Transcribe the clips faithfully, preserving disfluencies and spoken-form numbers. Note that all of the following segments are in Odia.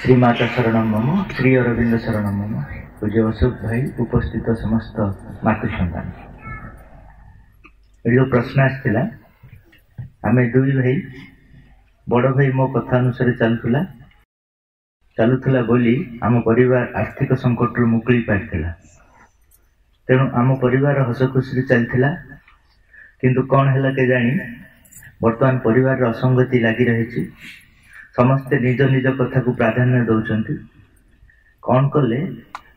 ଶ୍ରୀ ମାତା ଶରଣଂ ମମ, ଶ୍ରୀ ଅରବିନ୍ଦ ଶରଣଂ ମମ। ପୂଜ୍ୟ ଅଶୋକ ଭାଇ, ଉପସ୍ଥିତ ସମସ୍ତ ମାତୃ ସନ୍ତାନ, ଏଠି ଯେଉଁ ପ୍ରଶ୍ନ ଆସିଥିଲା, ଆମେ ଦୁଇ ଭାଇ, ବଡ଼ ଭାଇ ମୋ କଥା ଅନୁସାରେ ଚାଲୁଥିଲା ଚାଲୁଥିଲା ବୋଲି ଆମ ପରିବାର ଆର୍ଥିକ ସଙ୍କଟରୁ ମୁକୁଳି ପାରିଥିଲା। ତେଣୁ ଆମ ପରିବାର ହସ ଖୁସିରେ ଚାଲିଥିଲା। କିନ୍ତୁ କ'ଣ ହେଲା କେଜାଣି, ବର୍ତ୍ତମାନ ପରିବାରର ଅସଙ୍ଗତି ଲାଗି ରହିଛି। ସମସ୍ତେ ନିଜ ନିଜ କଥାକୁ ପ୍ରାଧାନ୍ୟ ଦେଉଛନ୍ତି। କ'ଣ କଲେ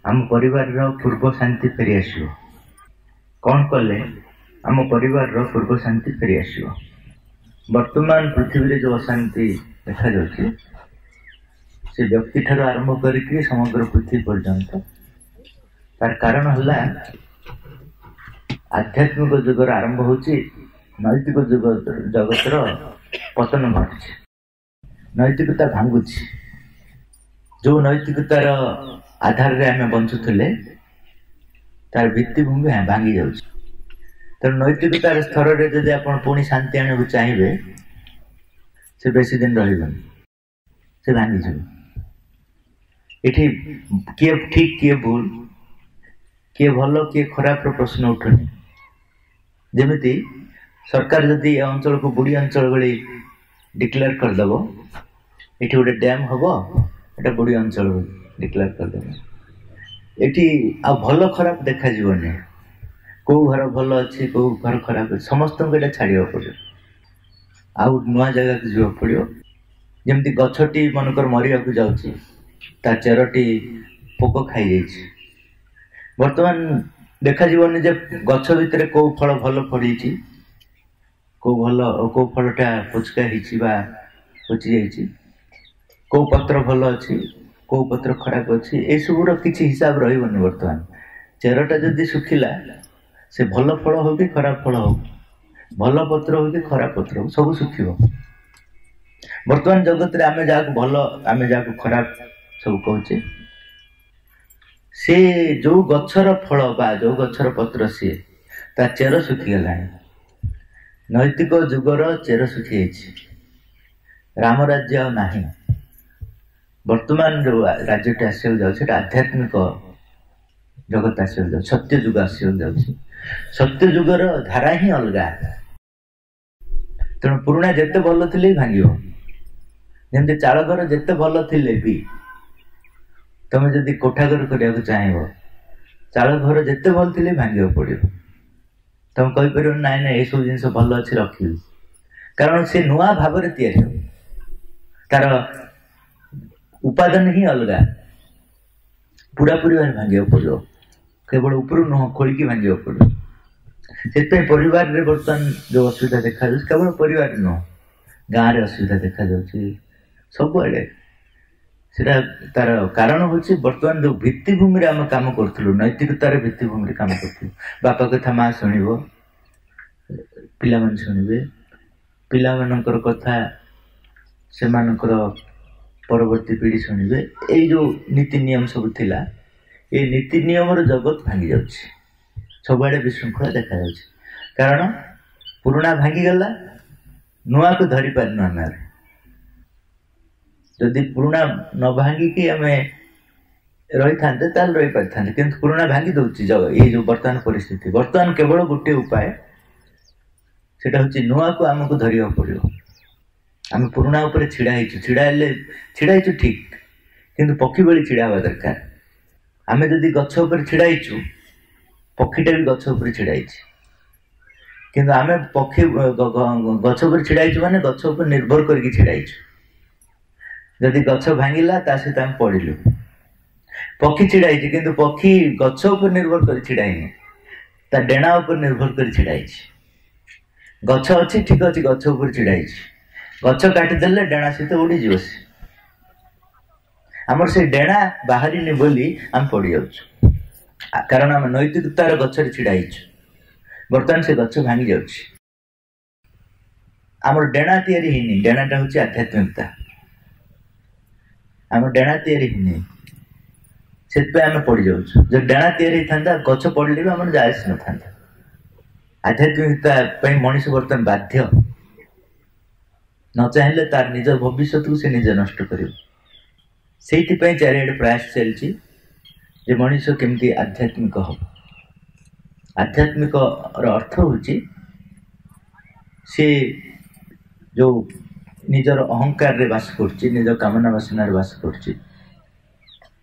ଆମ ପରିବାରର ପୂର୍ବ ଶାନ୍ତି ଫେରିଆସିବ? କ'ଣ କଲେ ଆମ ପରିବାରର ପୂର୍ବ ଶାନ୍ତି ଫେରିଆସିବ? ବର୍ତ୍ତମାନ ପୃଥିବୀରେ ଯେଉଁ ଅଶାନ୍ତି ଦେଖାଯାଉଛି, ସେ ବ୍ୟକ୍ତିଠାରୁ ଆରମ୍ଭ କରିକି ସମଗ୍ର ପୃଥିବୀ ପର୍ଯ୍ୟନ୍ତ, ତାର କାରଣ ହେଲା ଆଧ୍ୟାତ୍ମିକ ଯୁଗର ଆରମ୍ଭ ହେଉଛି, ନୈତିକ ଯୁଗ ଜଗତର ପତନ ଘଟୁଛି, ନୈତିକତା ଭାଙ୍ଗୁଛି। ଯେଉଁ ନୈତିକତାର ଆଧାରରେ ଆମେ ବଞ୍ଚୁଥିଲେ, ତାର ଭିତ୍ତିଭୂମି ଭାଙ୍ଗି ଯାଉଛି। ତେଣୁ ନୈତିକତାର ସ୍ତରରେ ଯଦି ଆପଣ ପୁଣି ଶାନ୍ତି ଆଣିବାକୁ ଚାହିଁବେ, ସେ ବେଶୀ ଦିନ ରହିବନି, ସେ ଭାଙ୍ଗିଯିବ। ଏଠି କିଏ ଠିକ, କିଏ ଭୁଲ, କିଏ ଭଲ, କିଏ ଖରାପର ପ୍ରଶ୍ନ ଉଠୁନି। ଯେମିତି ସରକାର ଯଦି ଏ ଅଞ୍ଚଳକୁ ବୁଡ଼ି ଅଞ୍ଚଳ ଭଳି ଡିକ୍ଲେୟାର କରିଦେବ, ଏଠି ଗୋଟେ ଡ୍ୟାମ୍ ହବ, ଏଟା ବୁଡ଼ି ଅଞ୍ଚଳ ବୋଲି ଡିକ୍ଲେୟାର କରିଦେବ, ଏଠି ଆଉ ଭଲ ଖରାପ ଦେଖାଯିବନି। କେଉଁ ଘର ଭଲ ଅଛି, କେଉଁ ଘର ଖରାପ ଅଛି, ସମସ୍ତଙ୍କୁ ଏଇଟା ଛାଡ଼ିବାକୁ ପଡ଼ିବ, ଆଉ ନୂଆ ଜାଗାକୁ ଯିବାକୁ ପଡ଼ିବ। ଯେମିତି ଗଛଟି ମନେକର ମରିବାକୁ ଯାଉଛି, ତା ଚେରଟି ପୋକ ଖାଇଯାଇଛି, ବର୍ତ୍ତମାନ ଦେଖାଯିବନି ଯେ ଗଛ ଭିତରେ କେଉଁ ଫଳ ଭଲ ଫଳିଛି, କେଉଁ ଭଲ, କେଉଁ ଫଳଟା ପୋଚକା ହେଇଛି ବା ପଚି ଯାଇଛି, କେଉଁ ପତ୍ର ଭଲ ଅଛି, କେଉଁ ପତ୍ର ଖରାପ ଅଛି, ଏସବୁର କିଛି ହିସାବ ରହିବନି। ବର୍ତ୍ତମାନ ଚେରଟା ଯଦି ଶୁଖିଲା, ସେ ଭଲ ଫଳ ହଉ କି ଖରାପ ଫଳ ହଉ, ଭଲ ପତ୍ର ହଉ କି ଖରାପ ପତ୍ର ହଉ, ସବୁ ଶୁଖିବ। ବର୍ତ୍ତମାନ ଜଗତରେ ଆମେ ଯାହାକୁ ଭଲ, ଆମେ ଯାହାକୁ ଖରାପ ସବୁ କହୁଛେ, ସେ ଯୋଉ ଗଛର ଫଳ ବା ଯୋଉ ଗଛର ପତ୍ର, ସିଏ ତା ଚେର ଶୁଖିଗଲାଣି। ନୈତିକ ଯୁଗର ଚେର ଶୁଖିଯାଇଛି। ରାମ ରାଜ୍ୟ ଆଉ ନାହିଁ। ବର୍ତ୍ତମାନ ଯୋଉ ରାଜ୍ୟଟି ଆସିବାକୁ ଯାଉଛି, ସେଟା ଆଧ୍ୟାତ୍ମିକ ଜଗତ ଆସିବାକୁ ଯାଉଛି, ସତ୍ୟ ଯୁଗ ଆସିବାକୁ ଯାଉଛି। ସତ୍ୟ ଯୁଗର ଧାରା ହିଁ ଅଲଗା। ତେଣୁ ପୁରୁଣା ଯେତେ ଭଲ ଥିଲେ ବି ଭାଙ୍ଗିବ। ଯେମିତି ଚାଳ ଘର ଯେତେ ଭଲ ଥିଲେ ବି ତମେ ଯଦି କୋଠା ଘର କରିବାକୁ ଚାହିଁବ, ଚାଳ ଘର ଯେତେ ଭଲ ଥିଲେ ଭାଙ୍ଗିବାକୁ ପଡ଼ିବ। ତମେ କହିପାରିବ, ନାଇଁ ନାଇଁ, ଏସବୁ ଜିନିଷ ଭଲ ଅଛି, ରଖିବି। କାରଣ ସେ ନୂଆ ଭାବରେ ତିଆରି ହେବ, ତାର ଉପାଦାନ ହିଁ ଅଲଗା। ପୁରାପୁରି ଭାବେ ଭାଙ୍ଗିବାକୁ ପଡ଼ିବ, କେବଳ ଉପରୁ ନୁହଁ, ଖୋଳିକି ଭାଙ୍ଗିବାକୁ ପଡ଼ିବ। ସେଥିପାଇଁ ପରିବାରରେ ବର୍ତ୍ତମାନ ଯୋଉ ଅସୁବିଧା ଦେଖାଯାଉଛି, କେବଳ ପରିବାର ନୁହଁ, ଗାଁରେ ଅସୁବିଧା ଦେଖାଯାଉଛି, ସବୁଆଡ଼େ, ସେଟା ତାର କାରଣ ହେଉଛି ବର୍ତ୍ତମାନ ଯୋଉ ଭିତ୍ତିଭୂମିରେ ଆମେ କାମ କରୁଥିଲୁ, ନୈତିକତାର ଭିତ୍ତିଭୂମିରେ କାମ କରୁଥିଲୁ, ବାପା କଥା ମା ଶୁଣିବ, ପିଲାମାନେ ଶୁଣିବେ, ପିଲାମାନଙ୍କର କଥା ସେମାନଙ୍କର ପରବର୍ତ୍ତୀ ପିଢ଼ି ଶୁଣିବେ, ଏଇ ଯୋଉ ନୀତି ନିୟମ ସବୁ ଥିଲା, ଏଇ ନୀତି ନିୟମର ଜଗତ ଭାଙ୍ଗି ଯାଉଛି। ସବୁଆଡ଼େ ବିଶୃଙ୍ଖଳା ଦେଖାଯାଉଛି, କାରଣ ପୁରୁଣା ଭାଙ୍ଗିଗଲା, ନୂଆକୁ ଧରି ପାରିନୁ ଆମେ। ଯଦି ପୁରୁଣା ନ ଭାଙ୍ଗିକି ଆମେ ରହିଥାନ୍ତେ, ତାହେଲେ ରହିପାରିଥାନ୍ତେ। କିନ୍ତୁ ପୁରୁଣା ଭାଙ୍ଗି ଦଉଛି ଏଇ ଯୋଉ ବର୍ତ୍ତମାନ ପରିସ୍ଥିତି। ବର୍ତ୍ତମାନ କେବଳ ଗୋଟିଏ ଉପାୟ, ସେଟା ହଉଛି ନୂଆକୁ ଆମକୁ ଧରିବାକୁ ପଡ଼ିବ। ଆମେ ପୁରୁଣା ଉପରେ ଛିଡ଼ା ହେଇଛୁ, ଛିଡ଼ା ହେଲେ ଛିଡ଼ା ହେଇଛୁ ଠିକ, କିନ୍ତୁ ପକ୍ଷୀ ଭଳି ଛିଡ଼ା ହେବା ଦରକାର। ଆମେ ଯଦି ଗଛ ଉପରେ ଛିଡ଼ା ହେଇଛୁ, ପକ୍ଷୀଟା ବି ଗଛ ଉପରେ ଛିଡ଼ା ହେଇଛି। କିନ୍ତୁ ଆମେ ପକ୍ଷୀ ଗଛ ଉପରେ ଛିଡ଼ା ହେଇଛୁ ମାନେ ଗଛ ଉପରେ ନିର୍ଭର କରିକି ଛିଡ଼ା ହେଇଛୁ। ଯଦି ଗଛ ଭାଙ୍ଗିଲା, ତା ସହିତ ଆମେ ପଡ଼ିଲୁ। ପକ୍ଷୀ ଛିଡ଼ା ହେଇଛି, କିନ୍ତୁ ପକ୍ଷୀ ଗଛ ଉପରେ ନିର୍ଭର କରି ଛିଡ଼ା ହେଇନି, ତା ଡେଣା ଉପରେ ନିର୍ଭର କରି ଛିଡ଼ା ହେଇଛି। ଗଛ ଅଛି, ଠିକ ଅଛି, ଗଛ ଉପରେ ଛିଡ଼ା ହେଇଛି। ଗଛ କାଟିଦେଲେ ଡେଣା ସହିତ ଉଡ଼ିଯିବ ସେ। ଆମର ସେ ଡେଣା ବାହାରିନି ବୋଲି ଆମେ ପଡ଼ିଯାଉଛୁ, କାରଣ ଆମେ ନୈତିକତାର ଗଛରେ ଛିଡ଼ା ହେଇଛୁ। ବର୍ତ୍ତମାନ ସେ ଗଛ ଭାଙ୍ଗି ଯାଉଛି, ଆମର ଡେଣା ତିଆରି ହେଇନି। ଡେଣାଟା ହଉଛି ଆଧ୍ୟାତ୍ମିକତା। ଆମ ଡେଣା ତିଆରି ହେଇନି, ସେଥିପାଇଁ ଆମେ ପଡ଼ିଯାଉଛୁ। ଯଦି ଡେଣା ତିଆରି ହେଇଥାନ୍ତା, ଗଛ ପଡ଼ିଲେ ବି ଆମର ଯାଏ ଆସିନଥାନ୍ତା। ଆଧ୍ୟାତ୍ମିକତା ପାଇଁ ମଣିଷ ବର୍ତ୍ତମାନ ବାଧ୍ୟ। ନ ଚାହିଁଲେ ତାର ନିଜ ଭବିଷ୍ୟତକୁ ସେ ନିଜେ ନଷ୍ଟ କରିବ। ସେଇଥିପାଇଁ ଚାରିଆଡ଼େ ପ୍ରୟାସ ଚାଲିଛି ଯେ ମଣିଷ କେମିତି ଆଧ୍ୟାତ୍ମିକ ହେବ। ଆଧ୍ୟାତ୍ମିକର ଅର୍ଥ ହେଉଛି ସେ ଯେଉଁ ନିଜର ଅହଙ୍କାରରେ ବାସ କରୁଛି, ନିଜ କାମନା ବାସନାରେ ବାସ କରୁଛି,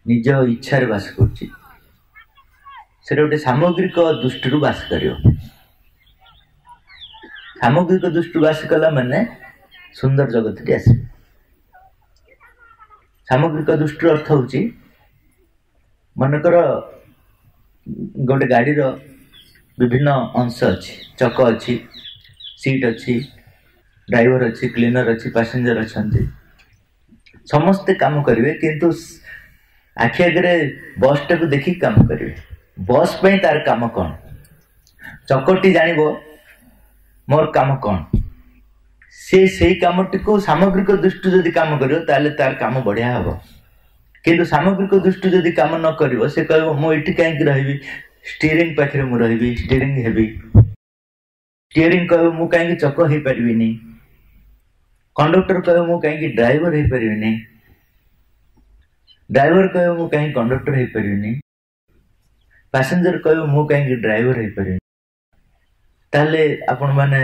ନିଜ ଇଚ୍ଛାରେ ବାସ କରୁଛି, ସେଟା ଗୋଟେ ସାମଗ୍ରିକ ଦୃଷ୍ଟିରୁ ବାସ କରିବ। ସାମଗ୍ରିକ ଦୃଷ୍ଟିରୁ ବାସ କଲା ମାନେ ସୁନ୍ଦର ଜଗତଟି ଆସିବ। ସାମଗ୍ରିକ ଦୃଷ୍ଟିର ଅର୍ଥ ହେଉଛି, ମନେକର ଗୋଟେ ଗାଡ଼ିର ବିଭିନ୍ନ ଅଂଶ ଅଛି, ଚକ ଅଛି, ସିଟ୍ ଅଛି, ଡ୍ରାଇଭର ଅଛି, କ୍ଲିନର ଅଛି, ପାସେଞ୍ଜର ଅଛନ୍ତି, ସମସ୍ତେ କାମ କରିବେ, କିନ୍ତୁ ଆଖି ଆଗରେ ବସ୍ଟାକୁ ଦେଖିକି କାମ କରିବେ। ବସ୍ ପାଇଁ ତାର କାମ କ'ଣ, ଚକଟି ଜାଣିବ ମୋର କାମ କ'ଣ, ସେ ସେଇ କାମଟିକୁ ସାମଗ୍ରିକ ଦୃଷ୍ଟି ଯଦି କାମ କରିବ ତାହେଲେ ତାର କାମ ବଢ଼ିଆ ହେବ। କିନ୍ତୁ ସାମଗ୍ରିକ ଦୃଷ୍ଟି ଯଦି କାମ ନ କରିବ, ସେ କହିବ ମୁଁ ଏଠି କାହିଁକି ରହିବି, ଷ୍ଟିୟରିଂ ପାଖରେ ମୁଁ ରହିବି, ଷ୍ଟିୟରିଂ ହେବି। ଷ୍ଟିୟରିଂ କହିବ ମୁଁ କାହିଁକି ଚକ ହେଇପାରିବିନି, କଣ୍ଡକ୍ଟର କହିବ ମୁଁ କାହିଁକି ଡ୍ରାଇଭର ହେଇପାରିବିନି, ଡ୍ରାଇଭର କହିବ ମୁଁ କାହିଁକି କଣ୍ଡକ୍ଟର ହେଇପାରିବିନି, ପାସେଞ୍ଜର କହିବ ମୁଁ କାହିଁକି ଡ୍ରାଇଭର ହେଇପାରିବିନି। ତାହେଲେ ଆପଣମାନେ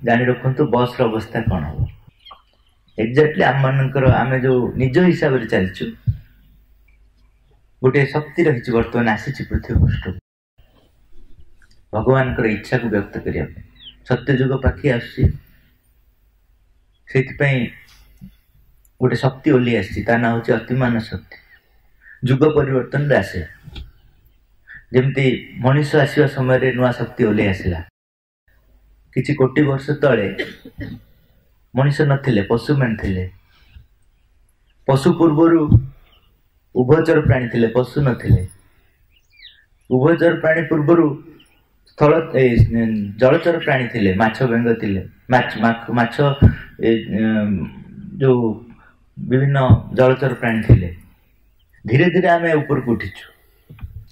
ଜାଣି ରଖନ୍ତୁ ବସ୍ର ଅବସ୍ଥା କ'ଣ ହେବ। ଏକ୍ଜାକ୍ଟଲି ଆମମାନଙ୍କର ଆମେ ଯେଉଁ ନିଜ ହିସାବରେ ଚାଲିଛୁ, ଗୋଟିଏ ଶକ୍ତି ରହିଛି ବର୍ତ୍ତମାନ ଆସିଛି ପୃଥିବୀ ପୃଷ୍ଠକୁ ଭଗବାନଙ୍କର ଇଚ୍ଛାକୁ ବ୍ୟକ୍ତ କରିବା ପାଇଁ। ସତ୍ୟଯୁଗ ପାଖେଇ ଆସୁଛି, ସେଇଥିପାଇଁ ଗୋଟେ ଶକ୍ତି ଓହ୍ଲେଇ ଆସିଛି, ତା ନାଁ ହେଉଛି ଅତିମାନ ଶକ୍ତି। ଯୁଗ ପରିବର୍ତ୍ତନରେ ଆସେ, ଯେମିତି ମଣିଷ ଆସିବା ସମୟରେ ନୂଆ ଶକ୍ତି ଓହ୍ଲେଇ ଆସିଲା। କିଛି କୋଟି ବର୍ଷ ତଳେ ମଣିଷ ନଥିଲେ, ପଶୁମାନେ ଥିଲେ। ପଶୁ ପୂର୍ବରୁ ଉଭଚର ପ୍ରାଣୀ ଥିଲେ, ପଶୁ ନଥିଲେ। ଉଭଚର ପ୍ରାଣୀ ପୂର୍ବରୁ ସ୍ଥଳ ଜଳଚର ପ୍ରାଣୀ ଥିଲେ, ମାଛ ବେଙ୍ଗ ଥିଲେ, ମାଛ ଯୋଉ ବିଭିନ୍ନ ଜଳଚର ପ୍ରାଣୀ ଥିଲେ। ଧୀରେ ଧୀରେ ଆମେ ଉପରକୁ ଉଠିଛୁ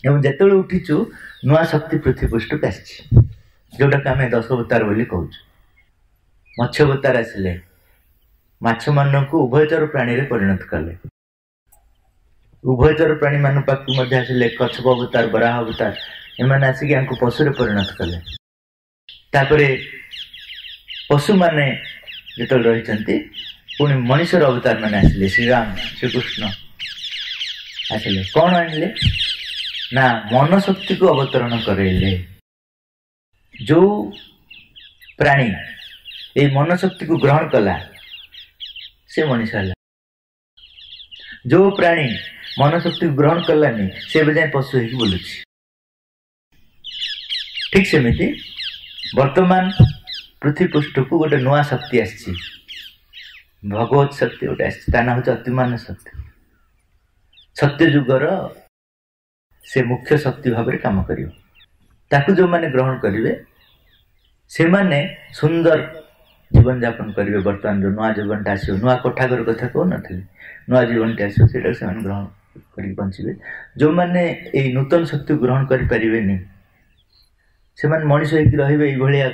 ଏବଂ ଯେତେବେଳେ ଉଠିଛୁ ନୂଆ ଶକ୍ତି ପୃଥିବୀ ପୃଷ୍ଠକୁ ଆସିଛି, ଯୋଉଟାକୁ ଆମେ ଦଶ ଅବତାର ବୋଲି କହୁଛୁ। ମତ୍ସ୍ୟ ଅବତାର ଆସିଲେ, ମାଛମାନଙ୍କୁ ଉଭୟଚର ପ୍ରାଣୀରେ ପରିଣତ କଲେ। ଉଭୟଚର ପ୍ରାଣୀମାନଙ୍କ ପାଖକୁ ମଧ୍ୟ ଆସିଲେ କଚ୍ଛପ ଅବତାର, ବରାହ ଅବତାର, ଏମାନେ ଆସିକି ୟାଙ୍କୁ ପଶୁରେ ପରିଣତ କଲେ। ତାପରେ ପଶୁମାନେ ଯେତେବେଳେ ରହିଛନ୍ତି, ପୁଣି ମଣିଷର ଅବତାର ମାନେ ଆସିଲେ, ଶ୍ରୀରାମ ଶ୍ରୀକୃଷ୍ଣ ଆସିଲେ। କ'ଣ ଆଣିଲେ ନା ମନ ଶକ୍ତିକୁ ଅବତରଣ କରାଇଲେ। ଯୋଉ ପ୍ରାଣୀ ଏଇ ମନ ଶକ୍ତିକୁ ଗ୍ରହଣ କଲା ସେ ମଣିଷ ହେଲା। ଯୋଉ ପ୍ରାଣୀ ମନ ଶକ୍ତିକୁ ଗ୍ରହଣ କଲାନି ସେ ଏବେ ଯାଏଁ ପଶୁ ହେଇକି ବୁଲୁଛି। ଠିକ ସେମିତି ବର୍ତ୍ତମାନ ପୃଥିବୀ ପୃଷ୍ଠକୁ ଗୋଟେ ନୂଆ ଶକ୍ତି ଆସିଛି, ଭଗବତ ଶକ୍ତି ଗୋଟେ ଆସିଛି, ତା ନାଁ ହେଉଛି ଅତିମାନ ଶକ୍ତି। ସତ୍ୟ ଯୁଗର ସେ ମୁଖ୍ୟ ଶକ୍ତି ଭାବରେ କାମ କରିବ। ତାକୁ ଯେଉଁମାନେ ଗ୍ରହଣ କରିବେ ସେମାନେ ସୁନ୍ଦର ଜୀବନଯାପନ କରିବେ। ବର୍ତ୍ତମାନ ଯେଉଁ ନୂଆ ଜୀବନଟା ଆସିବ, ନୂଆ କୋଠାଘର କଥା କହୁନଥିଲି, ନୂଆ ଜୀବନଟି ଆସିବ, ସେଇଟାକୁ ସେମାନେ ଗ୍ରହଣ କରିକି ବଞ୍ଚିବେ। ଯେଉଁମାନେ ଏଇ ନୂତନ ଶକ୍ତିକୁ ଗ୍ରହଣ କରିପାରିବେନି ସେମାନେ ମଣିଷ ହେଇକି ରହିବେ। ଏଇଭଳିଆ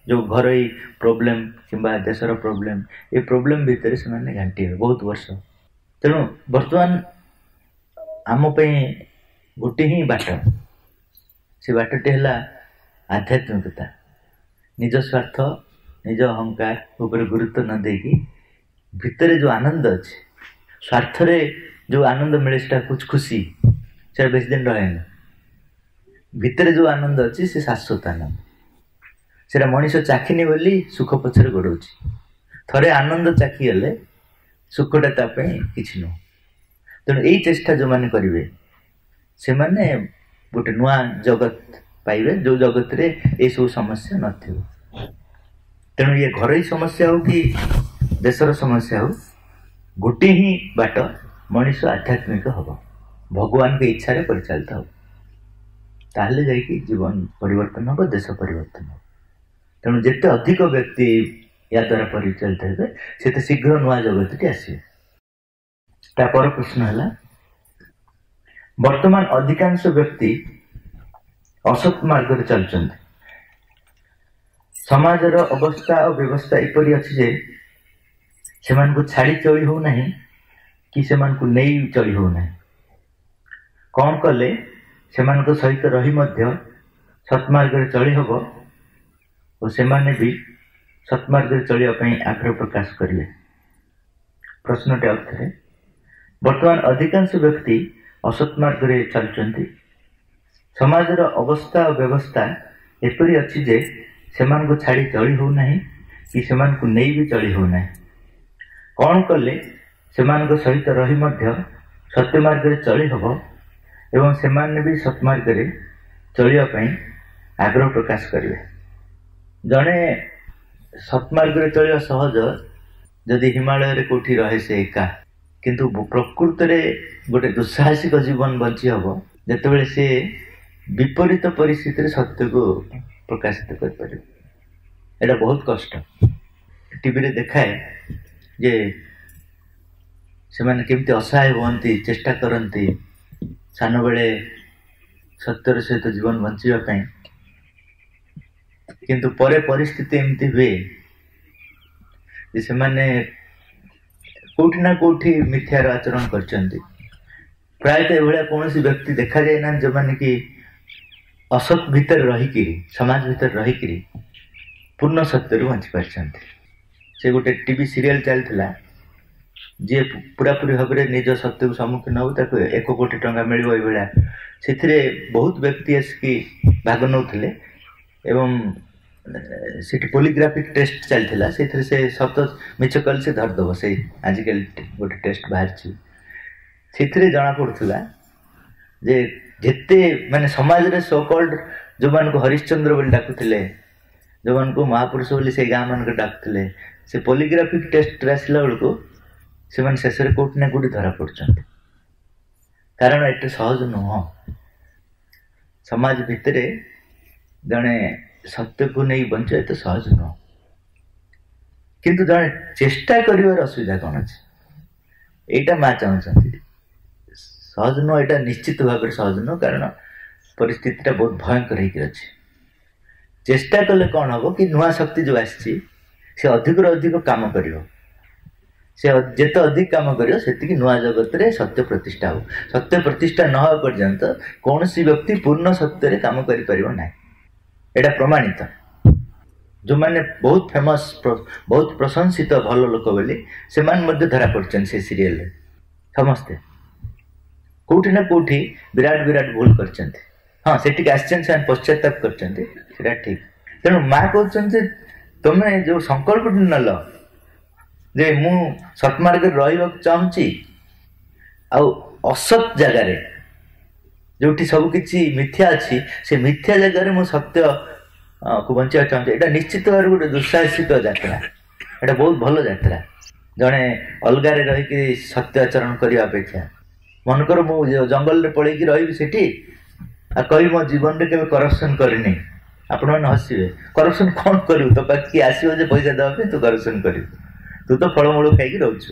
ଯେଉଁ ଘରୋଇ ପ୍ରୋବ୍ଲେମ୍ କିମ୍ବା ଦେଶର ପ୍ରୋବ୍ଲେମ୍, ଏ ପ୍ରୋବ୍ଲେମ୍ ଭିତରେ ସେମାନେ ଘାଣ୍ଟି ହେବେ ବହୁତ ବର୍ଷ। ତେଣୁ ବର୍ତ୍ତମାନ ଆମ ପାଇଁ ଗୋଟେ ହିଁ ବାଟ, ସେ ବାଟଟି ହେଲା ଆଧ୍ୟାତ୍ମିକତା। ନିଜ ସ୍ୱାର୍ଥ, ନିଜ ଅହଙ୍କାର ଉପରେ ଗୁରୁତ୍ୱ ନ ଦେଇକି ଭିତରେ ଯେଉଁ ଆନନ୍ଦ ଅଛି, ସ୍ୱାର୍ଥରେ ଯେଉଁ ଆନନ୍ଦ ମିଳେ ସେଟା ଖୁସି, ସେଟା ବେଶୀ ଦିନ ରହେନି। ଭିତରେ ଯେଉଁ ଆନନ୍ଦ ଅଛି ସେ ଶାଶ୍ୱତ ଆନନ୍ଦ। ସେଟା ମଣିଷ ଚାଖିନି ବୋଲି ସୁଖ ପଛରେ ଗୋଡ଼ଉଛି। ଥରେ ଆନନ୍ଦ ଚାଖିଗଲେ ସୁଖଟା ତା ପାଇଁ କିଛି ନୁହଁ। ତେଣୁ ଏଇ ଚେଷ୍ଟା ଯେଉଁମାନେ କରିବେ ସେମାନେ ଗୋଟେ ନୂଆ ଜଗତ ପାଇବେ, ଯେଉଁ ଜଗତରେ ଏସବୁ ସମସ୍ୟା ନଥିବ। ତେଣୁ ଇଏ ଘରୋଇ ସମସ୍ୟା ହଉ କି ଦେଶର ସମସ୍ୟା ହଉ, ଗୋଟିଏ ହିଁ ବାଟ, ମଣିଷ ଆଧ୍ୟାତ୍ମିକ ହବ, ଭଗବାନଙ୍କ ଇଚ୍ଛାରେ ପରିଚାଳିତ ହବ, ତାହେଲେ ଯାଇକି ଜୀବନ ପରିବର୍ତ୍ତନ ହବ, ଦେଶ ପରିବର୍ତ୍ତନ ହବ। ତେଣୁ ଯେତେ ଅଧିକ ବ୍ୟକ୍ତି ୟା ଦ୍ୱାରା ପରିଚାଳିତ ହେବେ ସେତେ ଶୀଘ୍ର ନୂଆ ଜଗତଟି ଆସିବ। ତାପର ପ୍ରଶ୍ନ ହେଲା, ବର୍ତ୍ତମାନ ଅଧିକାଂଶ ବ୍ୟକ୍ତି ଅସତ୍ ମାର୍ଗରେ ଚାଲୁଛନ୍ତି। ସମାଜର ଅବସ୍ଥା ଓ ବ୍ୟବସ୍ଥା ଏପରି ଅଛି ଯେ ସେମାନଙ୍କୁ ଛାଡ଼ି ଚଳି ହେଉନାହିଁ, କି ସେମାନଙ୍କୁ ନେଇ ଚଳି ହେଉନାହିଁ। କ'ଣ କଲେ ସେମାନଙ୍କ ସହିତ ରହି ମଧ୍ୟ ସତ୍ମାର୍ଗରେ ଚଳି ହେବ ଓ ସେମାନେ ବି ସତ୍ମାର୍ଗରେ ଚଳିବା ପାଇଁ ଆଗ୍ରହ ପ୍ରକାଶ କରିବେ? ପ୍ରଶ୍ନଟି ଅର୍ଥରେ, ବର୍ତ୍ତମାନ ଅଧିକାଂଶ ବ୍ୟକ୍ତି ଅସତ୍ମାର୍ଗରେ ଚାଲୁଛନ୍ତି। ସମାଜର ଅବସ୍ଥା ଓ ବ୍ୟବସ୍ଥା ଏପରି ଅଛି ଯେ ସେମାନଙ୍କୁ ଛାଡ଼ି ଚଳି ହେଉନାହିଁ କି ସେମାନଙ୍କୁ ନେଇ ବି ଚଳି ହେଉନାହିଁ। କ'ଣ କଲେ ସେମାନଙ୍କ ସହିତ ରହି ମଧ୍ୟ ସତ୍ୟମାର୍ଗରେ ଚଳି ହେବ ଏବଂ ସେମାନେ ବି ସତ୍ମାର୍ଗରେ ଚଳିବା ପାଇଁ ଆଗ୍ରହ ପ୍ରକାଶ କରିବେ? ଜଣେ ସତ୍ମାର୍ଗରେ ଚଳିବା ସହଜ ଯଦି ହିମାଳୟରେ କେଉଁଠି ରହେ ସେ ଏକା, କିନ୍ତୁ ପ୍ରକୃତରେ ଗୋଟେ ଦୁଃସାହସିକ ଜୀବନ ବଞ୍ଚି ହେବ ଯେତେବେଳେ ସେ ବିପରୀତ ପରିସ୍ଥିତିରେ ସତ୍ୟକୁ ପ୍ରକାଶିତ କରିପାରିବ। ଏଇଟା ବହୁତ କଷ୍ଟ। ଟିଭିରେ ଦେଖାଏ ଯେ ସେମାନେ କେମିତି ଅସହାୟ ହୁଅନ୍ତି, ଚେଷ୍ଟା କରନ୍ତି ସାନବେଳେ ସତ୍ୟର ସହିତ ଜୀବନ ବଞ୍ଚିବା ପାଇଁ, କିନ୍ତୁ ପରେ ପରିସ୍ଥିତି ଏମିତି ହୁଏ ଯେ ସେମାନେ କେଉଁଠି ନା କେଉଁଠି ମିଥ୍ୟାର ଆଚରଣ କରିଛନ୍ତି। ପ୍ରାୟତଃ ଏଭଳିଆ କୌଣସି ବ୍ୟକ୍ତି ଦେଖାଯାଏ ନାହାନ୍ତି ଯେଉଁମାନେ କି ଅସତ୍ ଭିତରେ ରହିକିରି, ସମାଜ ଭିତରେ ରହିକିରି ପୂର୍ଣ୍ଣ ସତ୍ୟରୁ ବଞ୍ଚି ପାରିଛନ୍ତି। ସେ ଗୋଟେ ଟିଭି ସିରିଏଲ୍ ଚାଲିଥିଲା, ଯିଏ ପୁରାପୁରି ଭାବରେ ନିଜ ସତ୍ୟକୁ ସମ୍ମୁଖୀନ ହେବ ତାକୁ ଏକ କୋଟି ଟଙ୍କା ମିଳିବ ଏଇଭଳିଆ। ସେଥିରେ ବହୁତ ବ୍ୟକ୍ତି ଆସିକି ଭାଗ ନେଉଥିଲେ ଏବଂ ସେଠି ପୋଲିଗ୍ରାଫିକ୍ ଟେଷ୍ଟ ଚାଲିଥିଲା। ସେଥିରେ ସେ ସତ ମିଛ କଲେ ସେ ଧରିଦେବ। ସେଇ ଆଜିକାଲି ଗୋଟେ ଟେଷ୍ଟ ବାହାରିଛି, ସେଥିରେ ଜଣାପଡ଼ୁଥିଲା ଯେ ଯେତେ ମାନେ ସମାଜରେ ସୋକଲ୍ଡ ଯେଉଁମାନଙ୍କୁ ହରିଶ୍ଚନ୍ଦ୍ର ବୋଲି ଡାକୁଥିଲେ, ଯେଉଁମାନଙ୍କୁ ମହାପୁରୁଷ ବୋଲି ସେଇ ଗାଁ ମାନଙ୍କରେ ଡାକୁଥିଲେ, ସେ ପୋଲିଗ୍ରାଫିକ୍ ଟେଷ୍ଟରେ ଆସିଲା ବେଳକୁ ସେମାନେ ଶେଷରେ କେଉଁଠି ନା କେଉଁଠି ଧରା ପଡ଼ୁଛନ୍ତି। କାରଣ ଏତେ ସହଜ ନୁହଁ। ସମାଜ ଭିତରେ ଜଣେ ସତ୍ୟକୁ ନେଇ ବଞ୍ଚିବା ଏତେ ସହଜ ନୁହଁ, କିନ୍ତୁ ଜଣେ ଚେଷ୍ଟା କରିବାର ଅସୁବିଧା କ'ଣ ଅଛି? ଏଇଟା ମା ଚାହୁଁଛନ୍ତି। ସହଜ ନୁହଁ, ଏଇଟା ନିଶ୍ଚିତ ଭାବରେ ସହଜ ନୁହଁ, କାରଣ ପରିସ୍ଥିତିଟା ବହୁତ ଭୟଙ୍କର ହେଇକି ଅଛି। ଚେଷ୍ଟା କଲେ କ'ଣ ହେବ କି ନୂଆ ଶକ୍ତି ଯେଉଁ ଆସିଛି ସେ ଅଧିକରୁ ଅଧିକ କାମ କରିବ। ସେ ଯେତେ ଅଧିକ କାମ କରିବ ସେତିକି ନୂଆ ଜଗତରେ ସତ୍ୟ ପ୍ରତିଷ୍ଠା ହେବ। ସତ୍ୟ ପ୍ରତିଷ୍ଠା ନ ହେବା ପର୍ଯ୍ୟନ୍ତ କୌଣସି ବ୍ୟକ୍ତି ପୂର୍ଣ୍ଣ ସତ୍ୟରେ କାମ କରିପାରିବ ନାହିଁ, ଏଇଟା ପ୍ରମାଣିତ। ଯେଉଁମାନେ ବହୁତ ଫେମସ୍, ବହୁତ ପ୍ରଶଂସିତ ଭଲ ଲୋକ ବୋଲି, ସେମାନେ ମଧ୍ୟ ଧରା ପଡ଼ିଛନ୍ତି ସେ ସିରିଏଲରେ। ସମସ୍ତେ କେଉଁଠି ନା କେଉଁଠି ବିରାଟ ବିରାଟ ଭୁଲ କରିଛନ୍ତି। ହଁ, ସେଠିକି ଆସିଛନ୍ତି, ସେମାନେ ପଶ୍ଚାତାପ କରିଛନ୍ତି, ସେଇଟା ଠିକ୍। ତେଣୁ ମା କହୁଛନ୍ତି ଯେ ତମେ ଯେଉଁ ସଂକଳ୍ପଟି ନେଲ ଯେ ମୁଁ ସତ୍ମାର୍ଗରେ ରହିବାକୁ ଚାହୁଁଛି, ଆଉ ଅସତ୍ ଜାଗାରେ ଯେଉଁଠି ସବୁକିଛି ମିଥ୍ୟା ଅଛି, ସେ ମିଥ୍ୟା ଜାଗାରେ ମୁଁ ସତ୍ୟକୁ ବଞ୍ଚିବାକୁ ଚାହୁଁଛି, ଏଇଟା ନିଶ୍ଚିତ ଭାବରେ ଗୋଟେ ଦୁଃସାହସିକ ଯାତ୍ରା। ଏଇଟା ବହୁତ ଭଲ ଯାତ୍ରା। ଜଣେ ଅଲଗାରେ ରହିକି ସତ୍ୟ ଆଚରଣ କରିବା ଅପେକ୍ଷା, ମନେକର ମୁଁ ଜଙ୍ଗଲରେ ପଳେଇକି ରହିବି ସେଠି ଆଉ କହିବି ମୋ ଜୀବନରେ କେବେ କରପ୍ସନ୍ କରିନି, ଆପଣମାନେ ହସିବେ। କରପ୍ସନ୍ କ'ଣ କରିବୁ? ତୋ ପାଖରେ କିଏ ଆସିବ ଯେ ପଇସା ଦେବା ପାଇଁ ତୁ କରପ୍ସନ୍ କରିବୁ? ତୁ ତ ଫଳମୂଳ ଖାଇକି ରହୁଛୁ,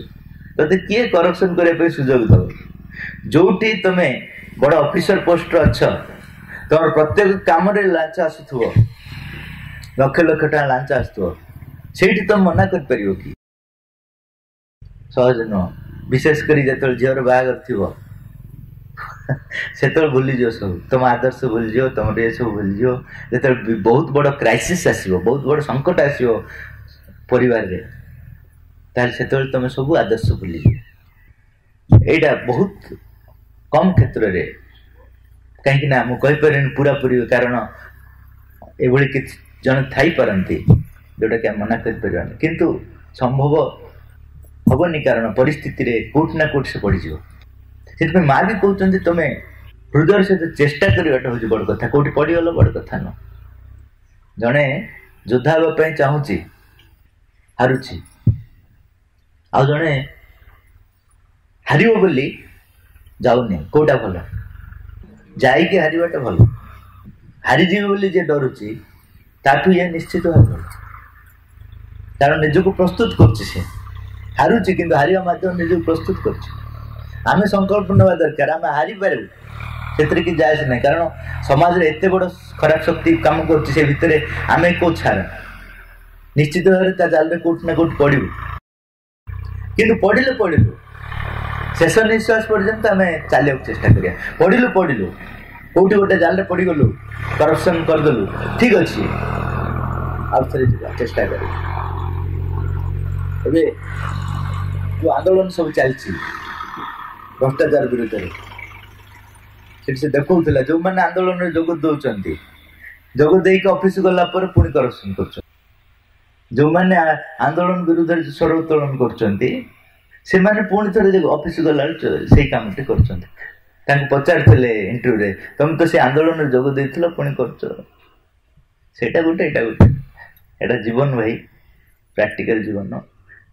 ତୋତେ କିଏ କରପ୍ସନ୍ କରିବା ପାଇଁ ସୁଯୋଗ ଦେବ? ଯୋଉଠି ତମେ ବଡ଼ ଅଫିସର ପୋଷ୍ଟରେ ଅଛ, ତମର ପ୍ରତ୍ୟେକ କାମରେ ଲାଞ୍ଚ ଆସୁଥିବ, ଲକ୍ଷ ଲକ୍ଷ ଟଙ୍କା ଲାଞ୍ଚ ଆସୁଥିବ, ସେଇଠି ତମେ ମନା କରିପାରିବ କି? ସହଜ ନୁହଁ। ବିଶେଷ କରି ଯେତେବେଳେ ଝିଅର ବାହାଘର ଥିବ, ସେତେବେଳେ ଭୁଲିଯିବ ସବୁ, ତମ ଆଦର୍ଶ ଭୁଲିଯିବ, ତମର ଏସବୁ ଭୁଲିଯିବ। ଯେତେବେଳେ ବହୁତ ବଡ଼ କ୍ରାଇସିସ୍ ଆସିବ, ବହୁତ ବଡ଼ ସଙ୍କଟ ଆସିବ ପରିବାରରେ, ତାହେଲେ ସେତେବେଳେ ତମେ ସବୁ ଆଦର୍ଶ ଭୁଲିଯିବ। ଏଇଟା ବହୁତ କମ୍ କ୍ଷେତ୍ରରେ, କାହିଁକି ନା ମୁଁ କହିପାରିବିନି ପୁରାପୁରି, କାରଣ ଏଭଳି କିଛି ଜଣେ ଥାଇପାରନ୍ତି ଯେଉଁଟାକି ଆମେ ମନା କରିପାରିବାନି, କିନ୍ତୁ ସମ୍ଭବ ହବନି, କାରଣ ପରିସ୍ଥିତିରେ କେଉଁଠି ନା କେଉଁଠି ସେ ପଡ଼ିଯିବ। ସେଥିପାଇଁ ମା ବି କହୁଛନ୍ତି ତମେ ହୃଦୟର ସହିତ ଚେଷ୍ଟା କରିବାଟା ହେଉଛି ବଡ଼ କଥା, କେଉଁଠି ପଡ଼ିଗଲ ବଡ଼ କଥା ନୁହଁ। ଜଣେ ଯୋଦ୍ଧା ହେବା ପାଇଁ ଚାହୁଁଛି, ହାରୁଛି, ଆଉ ଜଣେ ହାରିବ ବୋଲି ଯାଉନି, କେଉଁଟା ଭଲ? ଯାଇକି ହାରିବାଟା ଭଲ। ହାରିଯିବ ବୋଲି ଯିଏ ଡରୁଛି ତାଠୁ ଇଏ ନିଶ୍ଚିତ ଭାବେ ଭଲ, କାରଣ ନିଜକୁ ପ୍ରସ୍ତୁତ କରୁଛି। ସେ ହାରୁଛି କିନ୍ତୁ ହାରିବା ମାଧ୍ୟମରେ ନିଜକୁ ପ୍ରସ୍ତୁତ କରୁଛି। ଆମେ ସଂକଳ୍ପ ନେବା ଦରକାର ଆମେ ହାରିପାରିବୁ, ସେଥିରେ କିଛି ଯାଏ ଆସେ ନାହିଁ, କାରଣ ସମାଜରେ ଏତେ ବଡ଼ ଖରାପ ଶକ୍ତି କାମ କରୁଛି, ସେ ଭିତରେ ଆମେ କେଉଁ ଛାର, ନିଶ୍ଚିତ ଭାବରେ ତା ଜାଲରେ କେଉଁଠି ନା କେଉଁଠି ପଡ଼ିବୁ। କିନ୍ତୁ ପଡ଼ିଲେ ପଡ଼ିବୁ, ଶେଷ ନିଶ୍ୱାସ ପର୍ଯ୍ୟନ୍ତ ଆମେ ଚାଲିବାକୁ ଚେଷ୍ଟା କରିବା। ପଡ଼ିଲୁ ପଡ଼ିଲୁ କୋଉଠି ଗୋଟେ ଜାଲରେ ପଡ଼ିଗଲୁ, କରପ୍ସନ କରିଦେଲୁ, ଠିକ ଅଛି, ଆଉ ଥରେ ଯିବା, ଚେଷ୍ଟା କରିବା। ଏବେ ଯୋଉ ଆନ୍ଦୋଳନ ସବୁ ଚାଲିଛି ଭ୍ରଷ୍ଟାଚାର ବିରୁଦ୍ଧରେ, ସେଠି ସେ ଦେଖଉଥିଲା ଯୋଉମାନେ ଆନ୍ଦୋଳନରେ ଯୋଗ ଦଉଛନ୍ତି, ଯୋଗ ଦେଇକି ଅଫିସ ଗଲା ପରେ ପୁଣି କରପ୍ସନ କରୁଛନ୍ତି। ଯୋଉମାନେ ଆନ୍ଦୋଳନ ବିରୁଦ୍ଧରେ ସ୍ୱର ଉତ୍ତୋଳନ କରୁଛନ୍ତି, ସେମାନେ ପୁଣି ଥରେ ଅଫିସ ଗଲା ସେଇ କାମଟି କରୁଛନ୍ତି। ତାଙ୍କୁ ପଚାରିଥିଲେ ଇଣ୍ଟରଭ୍ୟୁରେ, ତମେ ତ ସେ ଆନ୍ଦୋଳନରେ ଯୋଗ ଦେଇଥିଲ ପୁଣି କରୁଛ। ସେଇଟା ଗୋଟେ, ଏଇଟା ଗୋଟେ, ଏଇଟା ଜୀବନ ଭାଇ, ପ୍ରାକ୍ଟିକାଲ ଜୀବନ।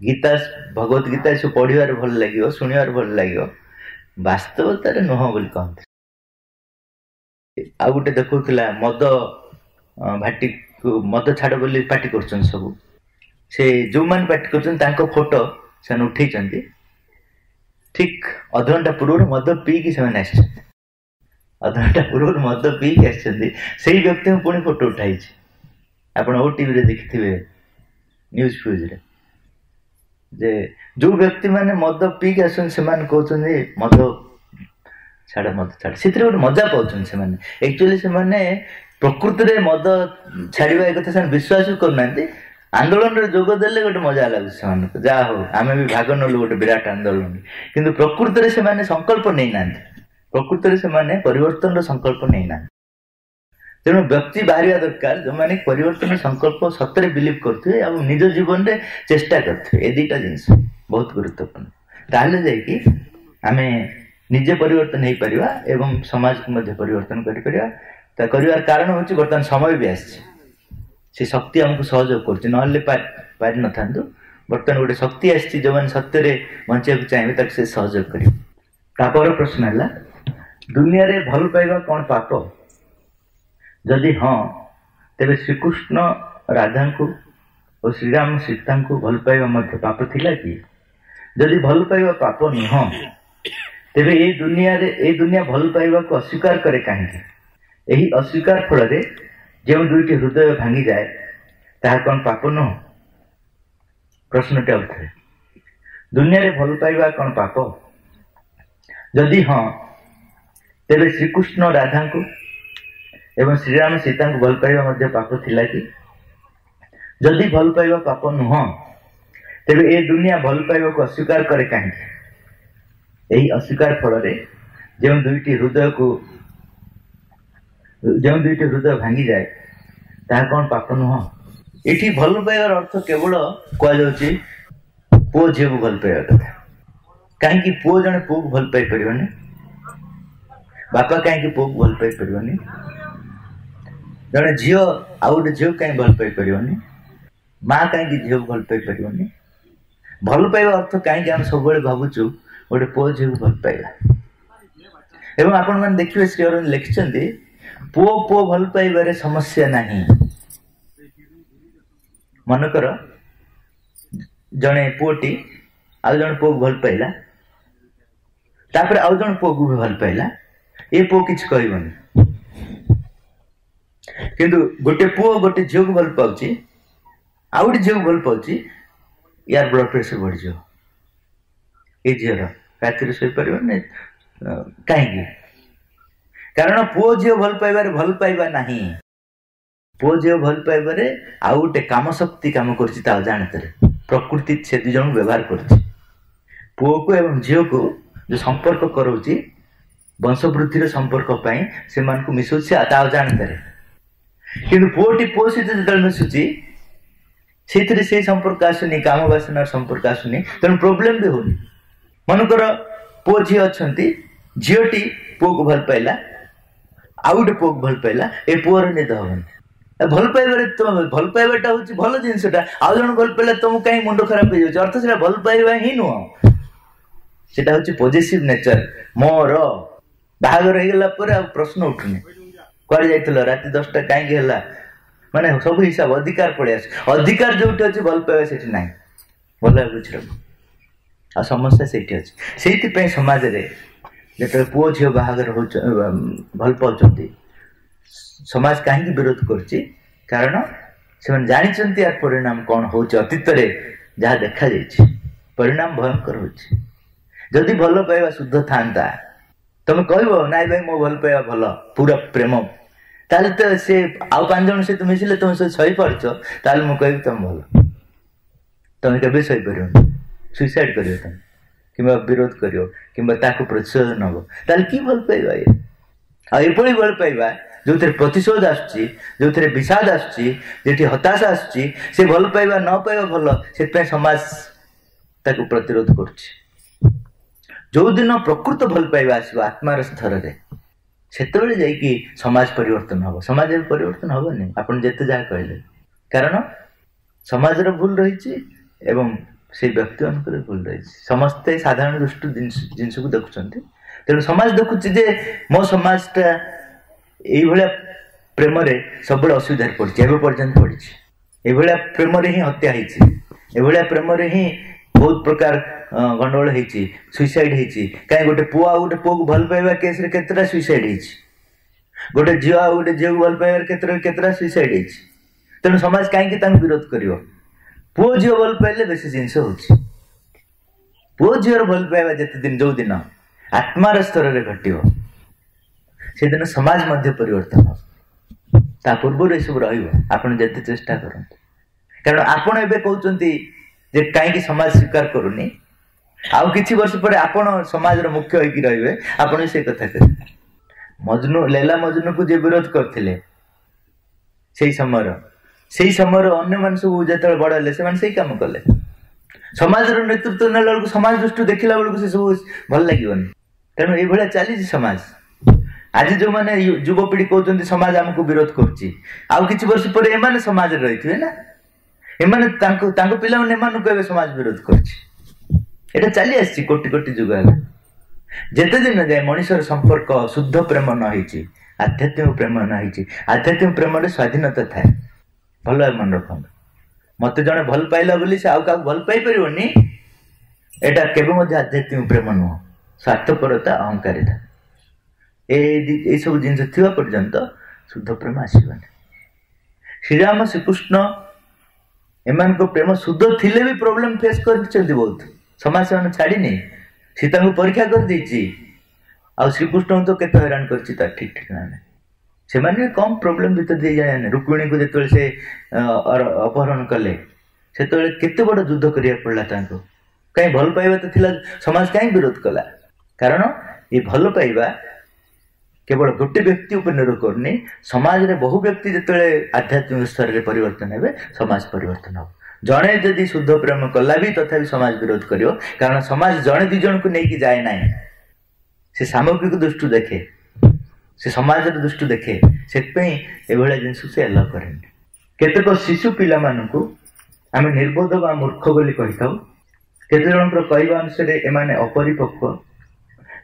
ଗୀତା, ଭଗବତ ଗୀତା ଏସବୁ ପଢିବାରେ ଭଲ ଲାଗିବ, ଶୁଣିବାରେ ଭଲ ଲାଗିବ, ବାସ୍ତବତାରେ ନୁହଁ ବୋଲି କହନ୍ତି। ଆଉ ଗୋଟେ ଦେଖଉଥିଲା ମଦ ଭାଟିକୁ ମଦ ଛାଡ଼ ବୋଲି ପାଟି କରୁଛନ୍ତି ସବୁ। ସେ ଯୋଉମାନେ ପାଟି କରୁଛନ୍ତି ତାଙ୍କ ଫଟୋ ସେମାନେ ଉଠେଇଛନ୍ତି। ଠିକ ଅଧଘଣ୍ଟା ପୂର୍ବରୁ ମଦ ପିଇକି ସେମାନେ ଆସିଛନ୍ତି, ଅଧଘଣ୍ଟା ପୂର୍ବରୁ ମଦ ପିଇକି ଆସିଛନ୍ତି। ସେଇ ବ୍ୟକ୍ତିଙ୍କୁ ପୁଣି ଫଟୋ ଉଠାଇଛି। ଆପଣ ଓ ଟିଭିରେ ଦେଖିଥିବେ, ନ୍ୟୁଜ୍ ଫ୍ୟୁଜରେ, ଯେ ଯୋଉ ବ୍ୟକ୍ତିମାନେ ମଦ ପିଇକି ଆସୁଛନ୍ତି ସେମାନେ କହୁଛନ୍ତି ମଦ ଛାଡ଼, ମଦ ଛାଡ଼। ସେଥିରେ ଗୋଟେ ମଜା ପାଉଛନ୍ତି ସେମାନେ। ଆକ୍ଚୁଆଲି ସେମାନେ ପ୍ରକୃତିରେ ମଦ ଛାଡ଼ିବା ଏ କଥା ସେମାନେ ବିଶ୍ୱାସ ବି କରୁନାହାନ୍ତି। ଆନ୍ଦୋଳନରେ ଯୋଗ ଦେଲେ ଗୋଟେ ମଜା ଲାଗୁଛି ସେମାନଙ୍କୁ, ଯାହା ହଉ ଆମେ ବି ଭାଗ ନେଲୁ ଗୋଟେ ବିରାଟ ଆନ୍ଦୋଳନ। କିନ୍ତୁ ପ୍ରକୃତିରେ ସେମାନେ ସଂକଳ୍ପ ନେଇନାହାନ୍ତି, ପ୍ରକୃତିରେ ସେମାନେ ପରିବର୍ତ୍ତନର ସଂକଳ୍ପ ନେଇନାହାନ୍ତି। ତେଣୁ ବ୍ୟକ୍ତି ବାହାରିବା ଦରକାର ଯୋଉମାନେ ପରିବର୍ତ୍ତନ ସଂକଳ୍ପ ସତରେ ବିଲିଭ୍ କରୁଥିବେ ଆଉ ନିଜ ଜୀବନରେ ଚେଷ୍ଟା କରୁଥିବେ। ଏ ଦୁଇଟା ଜିନିଷ ବହୁତ ଗୁରୁତ୍ୱପୂର୍ଣ୍ଣ। ତାହେଲେ ଯାଇକି ଆମେ ନିଜେ ପରିବର୍ତ୍ତନ ହେଇପାରିବା ଏବଂ ସମାଜକୁ ମଧ୍ୟ ପରିବର୍ତ୍ତନ କରିପାରିବା। ତା କରିବାର କାରଣ ହେଉଛି ବର୍ତ୍ତମାନ ସମୟ ବି ଆସିଛି, ସେ ଶକ୍ତି ଆମକୁ ସହଯୋଗ କରୁଛି, ନହେଲେ ପାରିନଥାନ୍ତୁ। ବର୍ତ୍ତମାନ ଗୋଟେ ଶକ୍ତି ଆସିଛି, ଯେଉଁମାନେ ସତ୍ୟରେ ବଞ୍ଚିବାକୁ ଚାହିଁବେ ତାକୁ ସେ ସହଯୋଗ କରିବ। ତାପର ପ୍ରଶ୍ନ ହେଲା, ଦୁନିଆରେ ଭଲ ପାଇବା କ'ଣ ପାପ? ଯଦି ହଁ, ତେବେ ଶ୍ରୀକୃଷ୍ଣ ରାଧାଙ୍କୁ ଓ ଶ୍ରୀରାମ ସୀତାଙ୍କୁ ଭଲ ପାଇବା ମଧ୍ୟ ପାପ ଥିଲା କି? ଯଦି ଭଲ ପାଇବା ପାପ ନୁହଁ, ତେବେ ଏଇ ଦୁନିଆରେ ଏଇ ଦୁନିଆ ଭଲ ପାଇବାକୁ ଅସ୍ୱୀକାର କରେ କାହିଁକି? ଏହି ଅସ୍ୱୀକାର ଫଳରେ ଯେଉଁ ଦୁଇଟି ହୃଦୟ ଭାଙ୍ଗିଯାଏ ତାହା କ'ଣ ପାପ ନୁହଁ? ପ୍ରଶ୍ନଟି ଆଉଥରେ, ଦୁନିଆରେ ଭଲ ପାଇବା କ'ଣ ପାପ? ଯଦି ହଁ, ତେବେ ଶ୍ରୀକୃଷ୍ଣ ରାଧାଙ୍କୁ ଏବଂ ଶ୍ରୀରାମ ସୀତାଙ୍କୁ ଭଲ ପାଇବା ମଧ୍ୟ ପାପ ଥିଲା କି? ଯଦି ଭଲ ପାଇବା ପାପ ନୁହଁ, ତେବେ ଏ ଦୁନିଆ ଭଲ ପାଇବାକୁ ଅସ୍ୱୀକାର କରେ କାହିଁକି? ଏହି ଅସ୍ୱୀକାର ଫଳରେ ଯେଉଁ ଦୁଇଟି ହୃଦୟକୁ ଯେଉଁ ଦୁଇଟି ହୃଦୟ ଭାଙ୍ଗିଯାଏ ତାହା କ'ଣ ପାପ ନୁହଁ? ଏଠି ଭଲ ପାଇବାର ଅର୍ଥ କେବଳ କୁହାଯାଉଛି ପୁଅ ଝିଅକୁ ଭଲ ପାଇବା କଥା। କାହିଁକି ପୁଅ ଜଣେ ପୁଅକୁ ଭଲ ପାଇପାରିବନି? ବାପା କାହିଁକି ପୁଅକୁ ଭଲ ପାଇପାରିବନି? ଜଣେ ଝିଅ ଆଉ ଗୋଟେ ଝିଅକୁ କାହିଁକି ଭଲ ପାଇପାରିବନି? ମା କାହିଁକି ଝିଅକୁ ଭଲ ପାଇପାରିବନି? ଭଲ ପାଇବା ଅର୍ଥ କାହିଁକି ଆମେ ସବୁବେଳେ ଭାବୁଛୁ ଗୋଟେ ପୁଅ ଝିଅକୁ ଭଲ ପାଇବା? ଏବଂ ଆପଣମାନେ ଦେଖିବେ ଶ୍ରୀ ଅରବିନ୍ଦ ଲେଖିଛନ୍ତି, ପୁଅ ପୁଅ ଭଲ ପାଇବାରେ ସମସ୍ୟା ନାହିଁ। ମନେକର ଜଣେ ପୁଅଟି ଆଉ ଜଣେ ପୁଅକୁ ଭଲ ପାଇଲା, ତାପରେ ଆଉ ଜଣେ ପୁଅକୁ ବି ଭଲ ପାଇଲା, ଏ ପୁଅ କିଛି କହିବନି। କିନ୍ତୁ ଗୋଟେ ପୁଅ ଗୋଟେ ଝିଅକୁ ଭଲ ପାଉଛି, ଆଉ ଗୋଟେ ଝିଅକୁ ଭଲ ପାଉଛି, ୟାର ବ୍ଲଡ ପ୍ରେସର ବଢିଯିବ, ଏ ଝିଅର ରାତିରେ ଶୋଇପାରିବନି। କାହିଁକି? କାରଣ ପୁଅ ଝିଅ ଭଲ ପାଇବାରେ ଭଲ ପାଇବା ନାହିଁ। ପୁଅ ଝିଅ ଭଲ ପାଇବାରେ ଆଉ ଗୋଟେ କାମ ଶକ୍ତି କାମ କରୁଛି ତା ଅଜାଣତରେ। ପ୍ରକୃତି ସେ ଦୁଇ ଜଣଙ୍କୁ ବ୍ୟବହାର କରୁଛି, ପୁଅକୁ ଏବଂ ଝିଅକୁ ଯୋଉ ସମ୍ପର୍କ କରାଉଛି, ବଂଶବୃଦ୍ଧିର ସମ୍ପର୍କ ପାଇଁ ସେମାନଙ୍କୁ ମିଶଉଛି ତା ଅଜାଣତରେ। କିନ୍ତୁ ପୁଅଟି ପୁଅ ସହିତ ଯେତେବେଳେ ମିଶୁଛି, ସେଇଥିରେ ସେଇ ସମ୍ପର୍କ ଆସୁନି, କାମ ବାସନାର ସମ୍ପର୍କ ଆସୁନି, ତେଣୁ ପ୍ରୋବ୍ଲେମ ବି ହଉନି। ମନେକର ପୁଅ ଝିଅ ଅଛନ୍ତି, ଝିଅଟି ପୁଅକୁ ଭଲ ପାଇଲା, ଆଉ ଗୋଟେ ପୁଅକୁ ଭଲ ପାଇଲା, ଏ ପୁଅର ନିଦ ହବନି। ଭଲ ପାଇବାରେ ଭଲ ପାଇବାଟା ହଉଛି ଭଲ ଜିନିଷଟା, ଆଉ ଜଣେ ଭଲ ପାଇଲା ତମକୁ କାହିଁ ମୁଣ୍ଡ ଖରାପ ହେଇଯାଉଛି? ଅର୍ଥ ସେଟା ଭଲ ପାଇବା ହିଁ ନୁହଁ, ସେଟା ହଉଛି ପଜେସିଭ ନେଚର। ମୋର ବାହାଘର ହେଇଗଲା ପରେ ଆଉ ପ୍ରଶ୍ନ ଉଠୁନି, କୁଆଡେ ଯାଇଥିଲ ରାତି ଦଶଟା କାହିଁକି ହେଲା, ମାନେ ସବୁ ହିସାବ ଅଧିକାର ପଳେଇ ଆସେ। ଅଧିକାର ଯୋଉଠି ଅଛି ଭଲ ପାଇବା ସେଠି ନାହିଁ। ଭଲ ବୁଝିଲ, ଆଉ ସମସ୍ୟା ସେଇଠି ଅଛି। ସେଇଥିପାଇଁ ସମାଜରେ ଯେତେବେଳେ ପୁଅ ଝିଅ ବାହାଘର ହଉଛ ଭଲ ପାଉଛନ୍ତି, ସମାଜ କାହିଁକି ବିରୋଧ କରୁଛି? କାରଣ ସେମାନେ ଜାଣିଛନ୍ତି ୟାର ପରିଣାମ କ'ଣ ହଉଛି। ଅତୀତରେ ଯାହା ଦେଖାଯାଇଛି ପରିଣାମ ଭୟଙ୍କର ହଉଛି। ଯଦି ଭଲ ପାଇବା ଶୁଦ୍ଧ ଥାନ୍ତା, ତମେ କହିବ ନାଇଁ ଭାଇ ମୋ ଭଲ ପାଇବା ଭଲ, ପୁରା ପ୍ରେମ, ତାହେଲେ ତ ସେ ଆଉ ପାଞ୍ଚ ଜଣ ସହିତ ମିଶିଲେ ତମେ ସହିତ ସହିପାରୁଛ, ତାହେଲେ ମୁଁ କହିବି ତମେ ଭଲ। ତମେ କେବେ ସହିପାରିବନି, ସୁଇସାଇଡ୍ କରିବ ତମେ, କିମ୍ବା ବିରୋଧ କରିବ, କିମ୍ବା ତାକୁ ପ୍ରତିଶୋଧ ନେବ। ତାହେଲେ କି ଭଲ ପାଇବା ଇଏ? ଆଉ ଏଭଳି ଭଲ ପାଇବା ଯୋଉଥିରେ ପ୍ରତିଶୋଧ ଆସୁଛି, ଯୋଉଥିରେ ବିଷାଦ ଆସୁଛି, ଯେଉଁଠି ହତାଶା ଆସୁଛି, ସେ ଭଲ ପାଇବା ନ ପାଇବା ଭଲ। ସେଥିପାଇଁ ସମାଜ ତାକୁ ପ୍ରତିରୋଧ କରୁଛି। ଯୋଉଦିନ ପ୍ରକୃତ ଭଲ ପାଇବା ଆସିବ ଆତ୍ମାର ସ୍ତରରେ, ସେତେବେଳେ ଯାଇକି ସମାଜ ପରିବର୍ତ୍ତନ ହବ। ସମାଜ ଏବେ ପରିବର୍ତ୍ତନ ହବନି ଆପଣ ଯେତେ ଯାହା କହିଲେ, କାରଣ ସମାଜର ଭୁଲ ରହିଛି ଏବଂ ସେଇ ବ୍ୟକ୍ତିମାନଙ୍କର ଭୁଲ ରହିଛି। ସମସ୍ତେ ସାଧାରଣ ଦୃଷ୍ଟି ଜିନିଷକୁ ଦେଖୁଛନ୍ତି। ତେଣୁ ସମାଜ ଦେଖୁଛି ଯେ ମୋ ସମାଜଟା ଏଇଭଳିଆ ପ୍ରେମରେ ସବୁବେଳେ ଅସୁବିଧାରେ ପଡ଼ିଛି, ଏବେ ପର୍ଯ୍ୟନ୍ତ ପଡ଼ିଛି। ଏଇଭଳିଆ ପ୍ରେମରେ ହିଁ ହତ୍ୟା ହେଇଛି, ଏଭଳିଆ ପ୍ରେମରେ ହିଁ ବହୁତ ପ୍ରକାର ଗଣ୍ଡଗୋଳ ହେଇଛି, ସୁଇସାଇଡ୍ ହେଇଛି। କାହିଁ ଗୋଟେ ପୁଅ ଆଉ ଗୋଟେ ପୁଅକୁ ଭଲ ପାଇବା କେସ୍ରେ କେତେଟା ସୁଇସାଇଡ୍ ହେଇଛି, ଗୋଟେ ଝିଅ ଆଉ ଗୋଟେ ଝିଅକୁ ଭଲ ପାଇବାରେ କେତେଟା କେତେଟା ସୁଇସାଇଡ୍ ହେଇଛି। ତେଣୁ ସମାଜ କାହିଁକି ତାଙ୍କୁ ବିରୋଧ କରିବ? ପୁଅ ଝିଅ ଭଲ ପାଇଲେ ବେଶୀ ଜିନିଷ ହଉଛି। ପୁଅ ଝିଅର ଭଲ ପାଇବା ଯେତେ ଦିନ ଯୋଉ ଦିନ ଆତ୍ମାର ସ୍ତରରେ ଘଟିବ, ସେଦିନ ସମାଜ ମଧ୍ୟ ପରିବର୍ତ୍ତନ ହବ। ତା ପୂର୍ବରୁ ଏସବୁ ରହିବ, ଆପଣ ଯେତେ ଚେଷ୍ଟା କରନ୍ତୁ। କାରଣ ଆପଣ ଏବେ କହୁଛନ୍ତି ଯେ କାହିଁକି ସମାଜ ସ୍ୱୀକାର କରୁନି, ଆଉ କିଛି ବର୍ଷ ପରେ ଆପଣ ସମାଜର ମୁଖ୍ୟ ହେଇକି ରହିବେ, ଆପଣ ସେ କଥା କହିବେ। ମଜନୁ, ଲେଲା ମଜନୁକୁ ଯିଏ ବିରୋଧ କରିଥିଲେ ସେଇ ସମୟର, ସେଇ ସମୟର ଅନ୍ୟମାନେ ସବୁ ଯେତେବେଳେ ବଡ ହେଲେ ସେମାନେ ସେଇ କାମ କଲେ। ସମାଜର ନେତୃତ୍ୱ ନେଲା ବେଳକୁ, ସମାଜ ଦୃଷ୍ଟିରୁ ଦେଖିଲା ବେଳକୁ ସେ ସବୁ ଭଲ ଲାଗିବନି। ତେଣୁ ଏଇଭଳିଆ ଚାଲିଛି ସମାଜ। ଆଜି ଯୋଉମାନେ ଯୁବପିଢି କହୁଛନ୍ତି ସମାଜ ଆମକୁ ବିରୋଧ କରୁଛି, ଆଉ କିଛି ବର୍ଷ ପରେ ଏମାନେ ସମାଜରେ ରହିଥିବେ ନା, ଏମାନେ ତାଙ୍କ ତାଙ୍କ ପିଲାମାନେ ଏମାନଙ୍କୁ ଏବେ ସମାଜ ବିରୋଧ କରୁଛି। ଏଇଟା ଚାଲି ଆସିଛି କୋଟି କୋଟି ଯୁଗ ହେଲା। ଯେତେ ଦିନ ଯାଏ ମଣିଷର ସମ୍ପର୍କ ଶୁଦ୍ଧ ପ୍ରେମ ନ ହେଇଛି, ଆଧ୍ୟାତ୍ମିକ ପ୍ରେମ ନ ହେଇଛି, ଆଧ୍ୟାତ୍ମିକ ପ୍ରେମରେ ସ୍ୱାଧୀନତା ଥାଏ। ଭଲ ଭାବେ ମନେ ରଖନ୍ତୁ, ମତେ ଜଣେ ଭଲ ପାଇଲା ବୋଲି ସେ ଆଉ କାହାକୁ ଭଲ ପାଇପାରିବନି, ଏଇଟା କେବେ ମଧ୍ୟ ଆଧ୍ୟାତ୍ମିକ ପ୍ରେମ ନୁହଁ। ସ୍ୱାର୍ଥପରତା, ଅହଙ୍କାରିତା, ଏଇ ସବୁ ଜିନିଷ ଥିବା ପର୍ଯ୍ୟନ୍ତ ଶୁଦ୍ଧ ପ୍ରେମ ଆସିବନି। ଶ୍ରୀରାମ, ଶ୍ରୀକୃଷ୍ଣ ଏମାନଙ୍କ ପ୍ରେମ ଶୁଦ୍ଧ ଥିଲେ ବି ପ୍ରୋବ୍ଲେମ ଫେସ୍ କରିଛନ୍ତି ବହୁତ। ସମାଜ ସେମାନେ ଛାଡ଼ିନି, ସୀତାଙ୍କୁ ପରୀକ୍ଷା କରିଦେଇଛି, ଆଉ ଶ୍ରୀକୃଷ୍ଣଙ୍କୁ ତ କେତେ ହଇରାଣ କରିଛି ତାର ଠିକ ଠିକଣା ନାହିଁ। ସେମାନେ ବି କମ୍ ପ୍ରୋବ୍ଲେମ ଭିତରେ ଦେଇ ଜାଣେ। ରୁକ୍ମିଣୀଙ୍କୁ ଯେତେବେଳେ ସେ ଅପହରଣ କଲେ, ସେତେବେଳେ କେତେ ବଡ଼ ଯୁଦ୍ଧ କରିବାକୁ ପଡ଼ିଲା ତାଙ୍କୁ। କାହିଁ ଭଲ ପାଇବା ତ ଥିଲା, ସମାଜ କାହିଁ ବିରୋଧ କଲା? କାରଣ ଏ ଭଲ ପାଇବା କେବଳ ଗୋଟେ ବ୍ୟକ୍ତି ଉପରେ ନିର୍ଭର କରୁନି। ସମାଜରେ ବହୁ ବ୍ୟକ୍ତି ଯେତେବେଳେ ଆଧ୍ୟାତ୍ମିକ ସ୍ତରରେ ପରିବର୍ତ୍ତନ ହେବେ, ସମାଜ ପରିବର୍ତ୍ତନ ହେବ। ଜଣେ ଯଦି ଶୁଦ୍ଧ ପ୍ରେମ କଲା ବି ତଥାପି ସମାଜ ବିରୋଧ କରିବ, କାରଣ ସମାଜ ଜଣେ ଦି ଜଣକୁ ନେଇକି ଯାଏ ନାହିଁ। ସେ ସାମଗ୍ରିକ ଦୃଷ୍ଟି ଦେଖେ, ସେ ସମାଜର ଦୃଷ୍ଟି ଦେଖେ। ସେଥିପାଇଁ ଏଭଳିଆ ଜିନିଷ ସେ ଆଲାଉ କରେନି। କେତେକ ଶିଶୁ ପିଲାମାନଙ୍କୁ ଆମେ ନିର୍ବୋଧ ବା ମୂର୍ଖ ବୋଲି କହିଥାଉ। କେତେ ଜଣଙ୍କର କହିବା ଅନୁସାରେ ଏମାନେ ଅପରିପକ୍ୱ।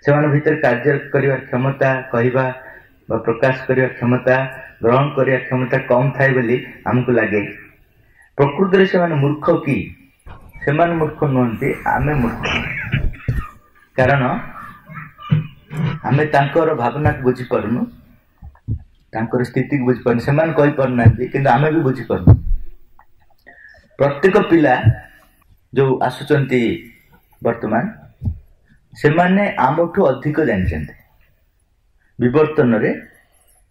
ସେମାନଙ୍କ ଭିତରେ କାର୍ଯ୍ୟ କରିବାର କ୍ଷମତା, କହିବା ବା ପ୍ରକାଶ କରିବା କ୍ଷମତା, ଗ୍ରହଣ କରିବା କ୍ଷମତା କମ୍ ଥାଏ ବୋଲି ଆମକୁ ଲାଗେ। ପ୍ରକୃତରେ ସେମାନେ ମୂର୍ଖ କି? ସେମାନେ ମୂର୍ଖ ନୁହନ୍ତି, ଆମେ ମୂର୍ଖ। କାରଣ ଆମେ ତାଙ୍କର ଭାବନାକୁ ବୁଝିପାରୁନୁ, ତାଙ୍କର ସ୍ଥିତିକୁ ବୁଝିପାରୁନୁ। ସେମାନେ କହିପାରୁନାହାନ୍ତି, କିନ୍ତୁ ଆମେ ବି ବୁଝିପାରୁନୁ। ପ୍ରତ୍ୟେକ ପିଲା ଯୋଉ ଆସୁଛନ୍ତି ବର୍ତ୍ତମାନ, ସେମାନେ ଆମଠୁ ଅଧିକ ଜାଣିଛନ୍ତି। ବିବର୍ତ୍ତନରେ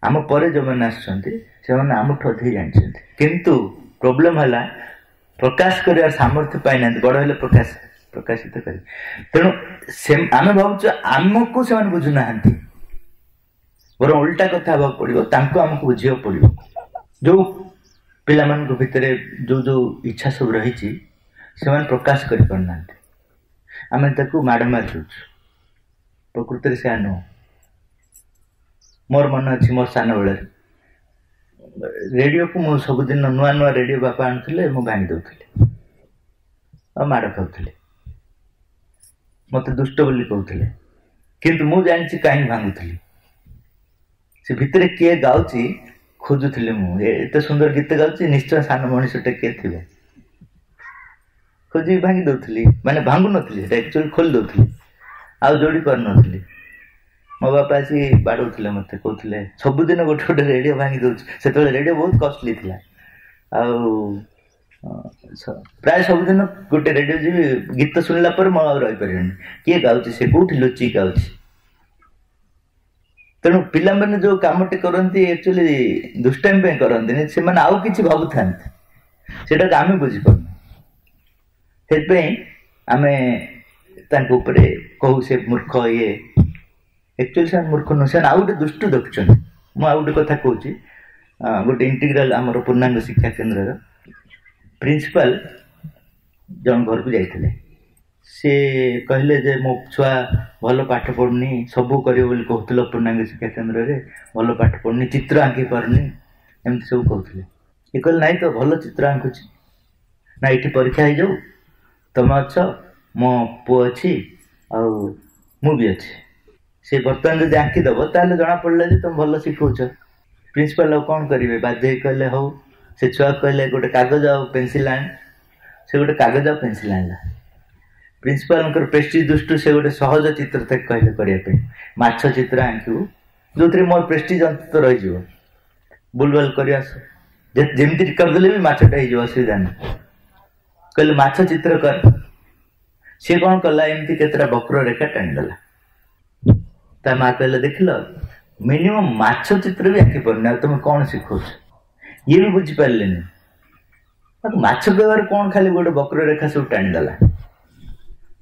ଆମ ପରେ ଯୋଉମାନେ ଆସୁଛନ୍ତି, ସେମାନେ ଆମଠୁ ଅଧିକ ଜାଣିଛନ୍ତି। କିନ୍ତୁ ପ୍ରୋବ୍ଲେମ ହେଲା ପ୍ରକାଶ କରିବାର ସାମର୍ଥ୍ୟ ପାଇନାହାନ୍ତି। ବଡ ହେଲେ ପ୍ରକାଶ ପ୍ରକାଶିତ କରିବେ। ତେଣୁ ସେ ଆମେ ଭାବୁଛୁ ଆମକୁ ସେମାନେ ବୁଝୁନାହାନ୍ତି, ବରଂ ଓଲଟା କଥା ହେବାକୁ ପଡିବ, ତାଙ୍କୁ ଆମକୁ ବୁଝିବାକୁ ପଡିବ। ଯୋଉ ପିଲାମାନଙ୍କ ଭିତରେ ଯୋଉ ଯୋଉ ଇଚ୍ଛା ସବୁ ରହିଛି, ସେମାନେ ପ୍ରକାଶ କରିପାରୁନାହାନ୍ତି, ଆମେ ତାକୁ ମାଡ଼ ମାରି ଦଉଛୁ। ପ୍ରକୃତରେ ସେୟା ନୁହଁ। ମୋର ମନେ ଅଛି, ମୋର ସାନ ବେଳରେ ରେଡ଼ିଓକୁ ମୁଁ ସବୁଦିନ, ନୂଆ ନୂଆ ରେଡ଼ିଓ ବାପା ଆଣୁଥିଲେ, ମୁଁ ଭାଙ୍ଗି ଦଉଥିଲି ଆଉ ମାଡ଼ ଖାଉଥିଲି। ମତେ ଦୁଷ୍ଟ ବୋଲି କହୁଥିଲେ, କିନ୍ତୁ ମୁଁ ଜାଣିଛି କାହିଁକି ଭାଙ୍ଗୁଥିଲି। ସେ ଭିତରେ କିଏ ଗାଉଛି ଖୋଜୁଥିଲି ମୁଁ। ଏତେ ସୁନ୍ଦର ଗୀତ ଗାଉଛି, ନିଶ୍ଚୟ ସାନ ମଣିଷଟେ କିଏ ଥିବ। ଖୋଜିକି ଭାଙ୍ଗି ଦଉଥିଲି, ମାନେ ଭାଙ୍ଗୁ ନଥିଲି, ସେଟା ଆକ୍ଚୁଆଲି ଖୋଲି ଦଉଥିଲି, ଆଉ ଯୋଡ଼ି ପାରୁନଥିଲି। ମୋ ବାପା ଆସି ବାଡ଼ଉଥିଲେ ମତେ, କହୁଥିଲେ ସବୁଦିନ ଗୋଟେ ଗୋଟେ ରେଡ଼ିଓ ଭାଙ୍ଗି ଦଉଛୁ। ସେତେବେଳେ ରେଡ଼ିଓ ବହୁତ କଷ୍ଟଲି ଥିଲା। ଆଉ ପ୍ରାୟ ସବୁଦିନ ଗୋଟେ ରେଡ଼ିଓ ଯିବି, ଗୀତ ଶୁଣିଲା ପରେ ମୁଁ ଆଉ ରହିପାରିବିନି, କିଏ ଗାଉଛି, ସେ କୋଉଠି ଲୁଚିକି ଗାଉଛି। ତେଣୁ ପିଲାମାନେ ଯୋଉ କାମଟି କରନ୍ତି ଆକ୍ଚୁଆଲି ଦୁଷ୍ଟାମି ପାଇଁ କରନ୍ତିନି, ସେମାନେ ଆଉ କିଛି ଭାବୁଥାନ୍ତି, ସେଇଟାକୁ ଆମେ ବୁଝିପାରୁନୁ। ସେଥିପାଇଁ ଆମେ ତାଙ୍କ ଉପରେ କହୁ ସେ ମୂର୍ଖ ଇଏ। ଆକ୍ଚୁଆଲି ସେମାନେ ମୂର୍ଖ ନୁହଁ, ସେମାନେ ଆଉ ଗୋଟେ ଦୃଷ୍ଟି ଦେଖୁଛନ୍ତି। ମୁଁ ଆଉ ଗୋଟେ କଥା କହୁଛି, ଗୋଟେ ଇଣ୍ଟିଗ୍ରାଲ ଆମର ପୂର୍ଣ୍ଣାଙ୍ଗ ଶିକ୍ଷା କେନ୍ଦ୍ରର ପ୍ରିନ୍ସିପାଲ ଜଣ ଘରକୁ ଯାଇଥିଲେ। ସେ କହିଲେ ଯେ ମୋ ଛୁଆ ଭଲ ପାଠ ପଢ଼ୁନି, ସବୁ କରିବ ବୋଲି କହୁଥିଲ ପୂର୍ଣ୍ଣାଙ୍ଗ ଶିକ୍ଷା କେନ୍ଦ୍ରରେ, ଭଲ ପାଠ ପଢ଼ୁନି, ଚିତ୍ର ଆଙ୍କି ପାରୁନି, ଏମିତି ସବୁ କହୁଥିଲେ। ଇଏ କହିଲେ ନାଇଁ ତ ଭଲ ଚିତ୍ର ଆଙ୍କୁଛି। ନା ଏଇଠି ପରୀକ୍ଷା ହେଇଯାଉ, ତମେ ଅଛ, ମୋ ପୁଅ ଅଛି, ଆଉ ମୁଁ ବି ଅଛି। ସେ ବର୍ତ୍ତମାନ ଯଦି ଆଙ୍କିଦେବ ତାହେଲେ ଜଣାପଡ଼ିଲା ଯେ ତମେ ଭଲ ଶିଖଉଛ। ପ୍ରିନ୍ସିପାଲ ଆଉ କ'ଣ କରିବେ, ବାଧ୍ୟ ହେଇ କହିଲେ ହଉ। ସେ ଛୁଆକୁ କହିଲେ ଗୋଟେ କାଗଜ ଆଉ ପେନସିଲ୍ ଆଣ। ସେ ଗୋଟେ କାଗଜ ଆଉ ପେନସିଲ୍ ଆଣିଲା। ପ୍ରିନ୍ସିପାଲଙ୍କର ପ୍ରେଷ୍ଟିଜ ଦୃଷ୍ଟିରୁ ସେ ଗୋଟେ ସହଜ ଚିତ୍ର ତାକୁ କହିଲେ କରିବା ପାଇଁ, ମାଛ ଚିତ୍ର ଆଙ୍କିବୁ ଯୋଉଥିରେ ମୋର ପ୍ରେଷ୍ଟିଜ ଅନ୍ତତଃ ରହିଯିବ, ବୁଲବାଲ କରି ଆସ, ଯେମିତି କରିଦେଲେ ବି ମାଛଟା ହେଇଯିବ, ଅସୁବିଧା ନାହିଁ। କହିଲେ ମାଛ ଚିତ୍ର କର। ସିଏ କ'ଣ କଲା, ଏମିତି କେତେଟା ବକ୍ର ରେଖା ଟାଣିଦେଲା। ତା ମା କହିଲେ ଦେଖିଲ ମିନିମମ୍ ମାଛ ଚିତ୍ର ବି ଆଙ୍କି ପାରୁନି, ଆଉ ତମେ କ'ଣ ଶିଖଉଛ? ଇଏ ବି ବୁଝିପାରିଲେନି, ତାକୁ ମାଛ କହିବାର କ'ଣ, ଖାଲି ଗୋଟେ ବକ୍ର ରେଖା ସବୁ ଟାଣିଦେଲା।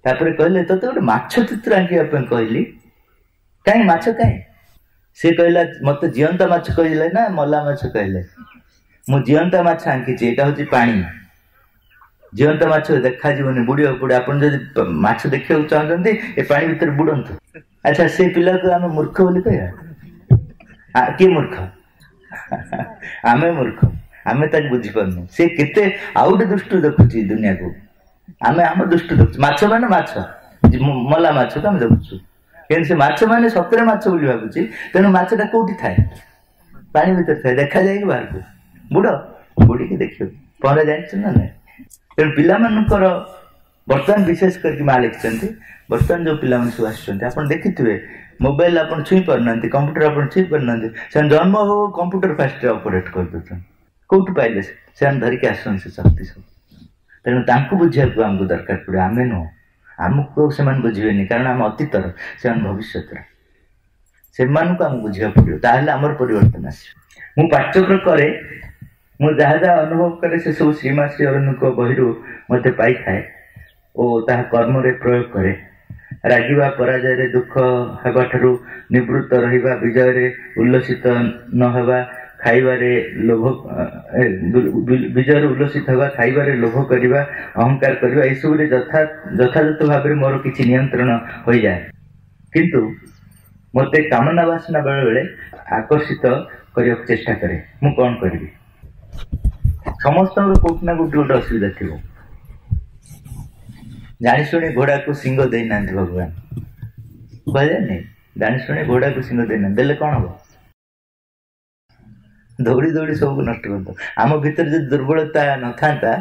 ତାପରେ କହିଲେ ତୋତେ ଗୋଟେ ମାଛ ଚିତ୍ର ଆଙ୍କିବା ପାଇଁ କହିଲି, କାହିଁ ମାଛ କାହିଁ? ସେ କହିଲା ମତେ ଜିଅନ୍ତା ମାଛ କହିଲେ ନା ମଲା ମାଛ କହିଲେ? ମୁଁ ଜିଅନ୍ତା ମାଛ ଆଙ୍କିଛି, ଏଇଟା ହଉଛି ପାଣି, ଜିଅନ୍ତା ମାଛ ଦେଖାଯିବନି, ବୁଡ଼ିବାକୁ ପଡ଼ିବ। ଆପଣ ଯଦି ମାଛ ଦେଖିବାକୁ ଚାହୁଁଛନ୍ତି ଏ ପାଣି ଭିତରେ ବୁଡ଼ନ୍ତୁ। ଆଚ୍ଛା, ସେ ପିଲାକୁ ଆମେ ମୂର୍ଖ ବୋଲି କହିବା? କିଏ ମୂର୍ଖ? ଆମେ ମୂର୍ଖ, ଆମେ ତାକୁ ବୁଝିପାରୁନୁ। ସେ କେତେ ଆଉ ଗୋଟେ ଦୃଷ୍ଟିରୁ ଦେଖୁଛି ଦୁନିଆକୁ, ଆମେ ଆମ ଦୃଷ୍ଟିରୁ ଦେଖୁଛୁ। ମାଛ ମାନେ ମାଛ, ମଲା ମାଛକୁ ଆମେ ଦେଖୁଛୁ, କିନ୍ତୁ ସେ ମାଛ ମାନେ ସତରେ ମାଛ ବୋଲି ଭାବୁଛି। ତେଣୁ ମାଛଟା କୋଉଠି ଥାଏ? ପାଣି ଭିତରେ ଥାଏ, ଦେଖାଯାଇକି ବାହାରକୁ ବୁଡ଼, ବୁଡ଼ିକି ଦେଖିବ। ପହଁରା ଜାଣିଛୁ ନା ନାଇଁ? ତେଣୁ ପିଲାମାନଙ୍କର ବର୍ତ୍ତମାନ ବିଶେଷ କରିକି ମା ଲେଖିଛନ୍ତି, ବର୍ତ୍ତମାନ ଯୋଉ ପିଲାମାନେ ସବୁ ଆସୁଛନ୍ତି ଆପଣ ଦେଖିଥିବେ, ମୋବାଇଲ ଆପଣ ଛୁଇଁ ପାରୁନାହାନ୍ତି, କମ୍ପ୍ୟୁଟର ଆପଣ ଛୁଇଁ ପାରୁନାହାନ୍ତି, ସେମାନେ ଜନ୍ମ ହଉ କମ୍ପ୍ୟୁଟର ଫାଷ୍ଟରେ ଅପରେଟ୍ କରିଦେଉଛନ୍ତି। କୋଉଠୁ ପାଇଲେ? ସେମାନେ ଧରିକି ଆସୁଛନ୍ତି ସେ ଶକ୍ତି ସବୁ। ତେଣୁ ତାଙ୍କୁ ବୁଝିବାକୁ ଆମକୁ ଦରକାର ପଡ଼ିବ, ଆମେ ନୁହଁ। ଆମକୁ ସେମାନେ ବୁଝିବେନି, କାରଣ ଆମେ ଅତୀତର, ସେମାନେ ଭବିଷ୍ୟତର। ସେମାନଙ୍କୁ ଆମକୁ ବୁଝିବାକୁ ପଡ଼ିବ, ତାହେଲେ ଆମର ପରିବର୍ତ୍ତନ ଆସିବ। ମୁଁ ପାଠଚକ୍ର କରେ, ମୁଁ ଯାହା ଯାହା ଅନୁଭବ କରେ ସେସବୁ ଶ୍ରୀମା ଶ୍ରୀ ଅରବିନ୍ଦଙ୍କ ବହିରୁ ମଧ୍ୟ ପାଇଥାଏ ଓ ତାହା କର୍ମରେ ପ୍ରୟୋଗ କରେ। ରାଗିବା, ପରାଜୟରେ ଦୁଃଖ ହେବାଠାରୁ ନିବୃତ୍ତ ରହିବା, ବିଜୟରେ ଉଲ୍ଲସିତ ନ ହେବା, ଖାଇବାରେ ଲୋଭ, ବିଜୟରେ ଉଲ୍ଲସିତ ହେବା, ଖାଇବାରେ ଲୋଭ କରିବା, ଅହଙ୍କାର କରିବା, ଏସବୁରେ ଯଥା ଯଥାଯଥ ଭାବରେ ମୋର କିଛି ନିୟନ୍ତ୍ରଣ ହୋଇଯାଏ। କିନ୍ତୁ ମୋତେ କାମନା ବାସନା ବେଳେବେଳେ ଆକର୍ଷିତ କରିବାକୁ ଚେଷ୍ଟା କରେ। ମୁଁ କ'ଣ କରିବି? ସମସ୍ତଙ୍କର କୋଉଠି ନା କୋଉଠି ଗୋଟେ ଅସୁବିଧା ଥିବ। ଜାଣିଶୁଣି ଘୋଡ଼ାକୁ ଶିଙ୍ଗ ଦେଇନାହାନ୍ତି ଭଗବାନ, କୁହାଯାଏନି? ଜାଣିଶୁଣି ଘୋଡ଼ାକୁ ଶିଙ୍ଗ ଦେଇନାହାନ୍ତି, ଦେଲେ କ'ଣ ହବ? ଦୌଡ଼ି ଦୌଡ଼ି ସବୁକୁ ନଷ୍ଟ କରିଦେବ। ଆମ ଭିତରେ ଯଦି ଦୁର୍ବଳତା ନଥାନ୍ତା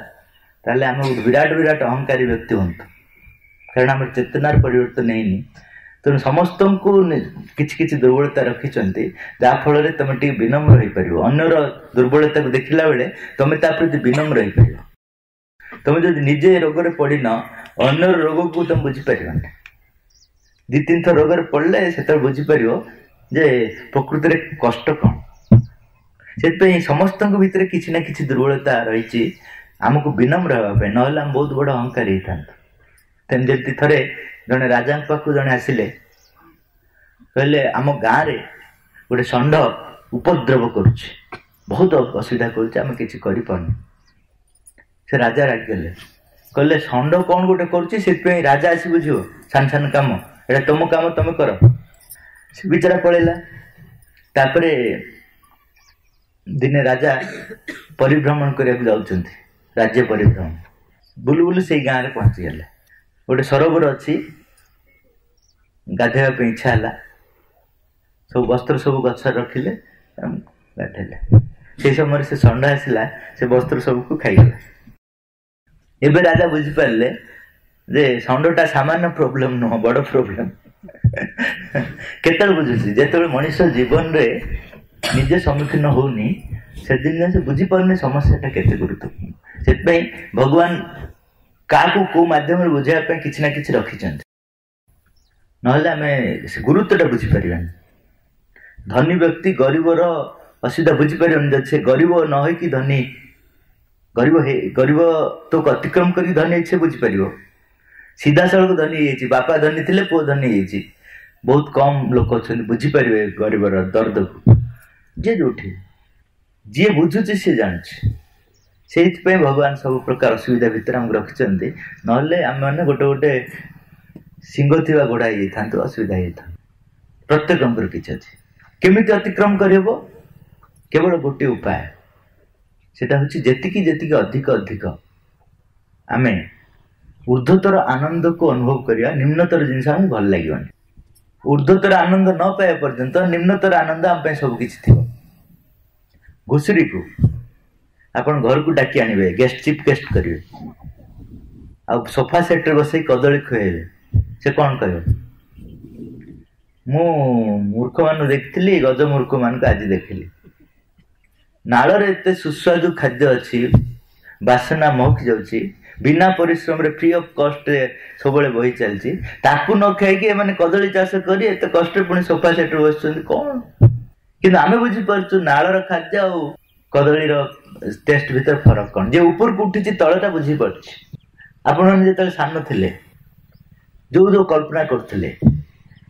ତାହେଲେ ଆମେ ଗୋଟେ ବିରାଟ ବିରାଟ ଅହଙ୍କାରୀ ବ୍ୟକ୍ତି ହୁଅନ୍ତୁ, କାରଣ ଆମର ଚେତନାର ପରିବର୍ତ୍ତନ ହେଇନି। ତେଣୁ ସମସ୍ତଙ୍କୁ କିଛି କିଛି ଦୁର୍ବଳତା ରଖିଛନ୍ତି, ଯାହାଫଳରେ ତମେ ଟିକେ ବିନମ୍ର ହେଇପାରିବ। ଅନ୍ୟର ଦୁର୍ବଳତାକୁ ଦେଖିଲା ବେଳେ ତମେ ତା ପ୍ରତି ବିନମ୍ର ହେଇପାରିବ। ତମେ ଯଦି ନିଜେ ରୋଗରେ ପଡ଼ିନ, ଅନ୍ୟର ରୋଗକୁ ତମେ ବୁଝିପାରିବନି। ଦୁଇ ତିନି ଥର ରୋଗରେ ପଡ଼ିଲେ ସେତେବେଳେ ବୁଝିପାରିବ ଯେ ପ୍ରକୃତିରେ କଷ୍ଟ କ'ଣ। ସେଥିପାଇଁ ସମସ୍ତଙ୍କ ଭିତରେ କିଛି ନା କିଛି ଦୁର୍ବଳତା ରହିଛି, ଆମକୁ ବିନମ୍ର ହେବା ପାଇଁ, ନହେଲେ ଆମେ ବହୁତ ବଡ଼ ଅହଙ୍କାରୀ ହେଇଥାନ୍ତୁ। ତେଣୁ ଯେମିତି ଥରେ ଜଣେ ରାଜାଙ୍କ ପାଖକୁ ଜଣେ ଆସିଲେ, କହିଲେ ଆମ ଗାଁରେ ଗୋଟେ ଷଣ୍ଢ ଉପଦ୍ରବ କରୁଛି, ବହୁତ ଅସୁବିଧା କରୁଛି, ଆମେ କିଛି କରିପାରୁନୁ। ସେ ରାଜା ରାଗିଗଲେ, କହିଲେ ଷଣ୍ଢ କ'ଣ ଗୋଟେ କରୁଛି, ସେଥିପାଇଁ ରାଜା ଆସି ବୁଝିବ ସାନ ସାନ କାମ, ଏଇଟା ତମ କାମ ତମେ କର। ସେ ବିଚାରା ପଳେଇଲା। ତାପରେ ଦିନେ ରାଜା ପରିଭ୍ରମଣ କରିବାକୁ ଯାଉଛନ୍ତି, ରାଜ୍ୟ ପରିଭ୍ରମଣ, ବୁଲୁ ବୁଲୁ ସେଇ ଗାଁରେ ପହଞ୍ଚିଗଲେ। ଗୋଟେ ସରୋବର ଅଛି, ଗାଧୋଇବା ପାଇଁ ଇଚ୍ଛା ହେଲା, ସବୁ ବସ୍ତ୍ର ସବୁ ଗଛରେ ରଖିଲେ, ଗାଧୋଇଲେ। ସେଇ ସମୟରେ ସେ ଷଣ୍ଢ ଆସିଲା, ସେ ବସ୍ତ୍ର ସବୁକୁ ଖାଇଗଲା। ଏବେ ରାଜା ବୁଝିପାରିଲେ ଯେ ଷଣ୍ଢଟା ସାମାନ୍ୟ ପ୍ରୋବ୍ଲେମ ନୁହଁ, ବଡ଼ ପ୍ରୋବ୍ଲେମ। କେତେବେଳେ ବୁଝୁଛି? ଯେତେବେଳେ ମଣିଷ ଜୀବନରେ ନିଜେ ସମ୍ମୁଖୀନ ହଉନି, ସେଦିନ ସେ ବୁଝିପାରୁନି ସମସ୍ୟାଟା କେତେ ଗୁରୁତ୍ୱପୂର୍ଣ୍ଣ। ସେଥିପାଇଁ ଭଗବାନ କାହାକୁ କୋଉ ମାଧ୍ୟମରେ ବୁଝାଇବା ପାଇଁ କିଛି ନା କିଛି ରଖିଛନ୍ତି, ନହେଲେ ଆମେ ସେ ଗୁରୁତ୍ୱଟା ବୁଝିପାରିବାନି। ଧନୀ ବ୍ୟକ୍ତି ଗରିବର ଅସୁବିଧା ବୁଝିପାରିବନି ଯଦି ସେ ଗରିବ ନ ହେଇକି ଧନୀ, ଗରିବ ହେଇ ଗରିବ ତ ଅତିକ୍ରମ କରିକି ଧନୀ ହେଇଛି ସେ ବୁଝିପାରିବ। ସିଧାସଳଖ ଧନୀ ହେଇଯାଇଛି, ବାପା ଧନୀ ଥିଲେ ପୁଅ ଧନୀ ହେଇଯାଇଛି। ବହୁତ କମ୍ ଲୋକ ଅଛନ୍ତି ବୁଝିପାରିବେ ଗରିବର ଦର୍ଦକୁ। ଯିଏ ଯୋଉଠି ଯିଏ ବୁଝୁଛି ସିଏ ଜାଣୁଛି। ସେଇଥିପାଇଁ ଭଗବାନ ସବୁ ପ୍ରକାର ଅସୁବିଧା ଭିତରେ ଆମକୁ ରଖିଛନ୍ତି, ନହେଲେ ଆମେମାନେ ଗୋଟେ ଗୋଟେ ଶିଙ୍ଗ ଥିବା ଘୋଡ଼ା ହେଇଯାଇଥାନ୍ତୁ, ଅସୁବିଧା ହେଇଯାଇଥାନ୍ତୁ। ପ୍ରତ୍ୟେକଙ୍କର କିଛି ଅଛି। କେମିତି ଅତିକ୍ରମ କରିହେବ? କେବଳ ଗୋଟିଏ ଉପାୟ, ସେଟା ହେଉଛି ଯେତିକି ଯେତିକି ଅଧିକ ଅଧିକ ଆମେ ଉର୍ଦ୍ଧ୍ୱତର ଆନନ୍ଦକୁ ଅନୁଭବ କରିବା, ନିମ୍ନତର ଜିନିଷ ଆମକୁ ଭଲ ଲାଗିବନି। ଉର୍ଦ୍ଧ୍ୱତର ଆନନ୍ଦ ନ ପାଇବା ପର୍ଯ୍ୟନ୍ତ ନିମ୍ନତର ଆନନ୍ଦ ଆମ ପାଇଁ ସବୁ କିଛି ଥିବ। ଘୁଷୁରୀକୁ ଆପଣ ଘରକୁ ଡାକି ଆଣିବେ, ଗେଷ୍ଟ ଚିଫ୍ ଗେଷ୍ଟ କରିବେ, ଆଉ ସୋଫା ସେଟ୍ରେ ବସେଇ କଦଳୀ ଖୁଆଇବେ, ସେ କ'ଣ କହିବ? ମୁଁ ମୂର୍ଖମାନଙ୍କୁ ଦେଖିଥିଲି, ଗଜ ମୂର୍ଖମାନଙ୍କୁ ଆଜି ଦେଖିଲି। ନାଳରେ ଏତେ ସୁସ୍ୱାଦୁ ଖାଦ୍ୟ ଅଛି, ବାସନା ମହକି ଯାଉଛି, ବିନା ପରିଶ୍ରମରେ ଫ୍ରି ଅଫ୍ କଷ୍ଟରେ ସବୁବେଳେ ବହି ଚାଲିଛି, ତାକୁ ନ ଖାଇକି ଏମାନେ କଦଳୀ ଚାଷ କରି ଏତେ କଷ୍ଟରେ ପୁଣି ସୋଫା ସେଟ୍ରେ ବସୁଛନ୍ତି କ'ଣ? କିନ୍ତୁ ଆମେ ବୁଝିପାରୁଛୁ ନାଳର ଖାଦ୍ୟ ଆଉ କଦଳୀର ଟେଷ୍ଟ ଭିତରେ ଫରକ କ'ଣ। ଯିଏ ଉପରକୁ ଉଠିଛି ତଳଟା ବୁଝିପାରୁଛି। ଆପଣମାନେ ଯେତେବେଳେ ସାନ ଥିଲେ ଯୋଉ ଯୋଉ କଳ୍ପନା କରୁଥିଲେ,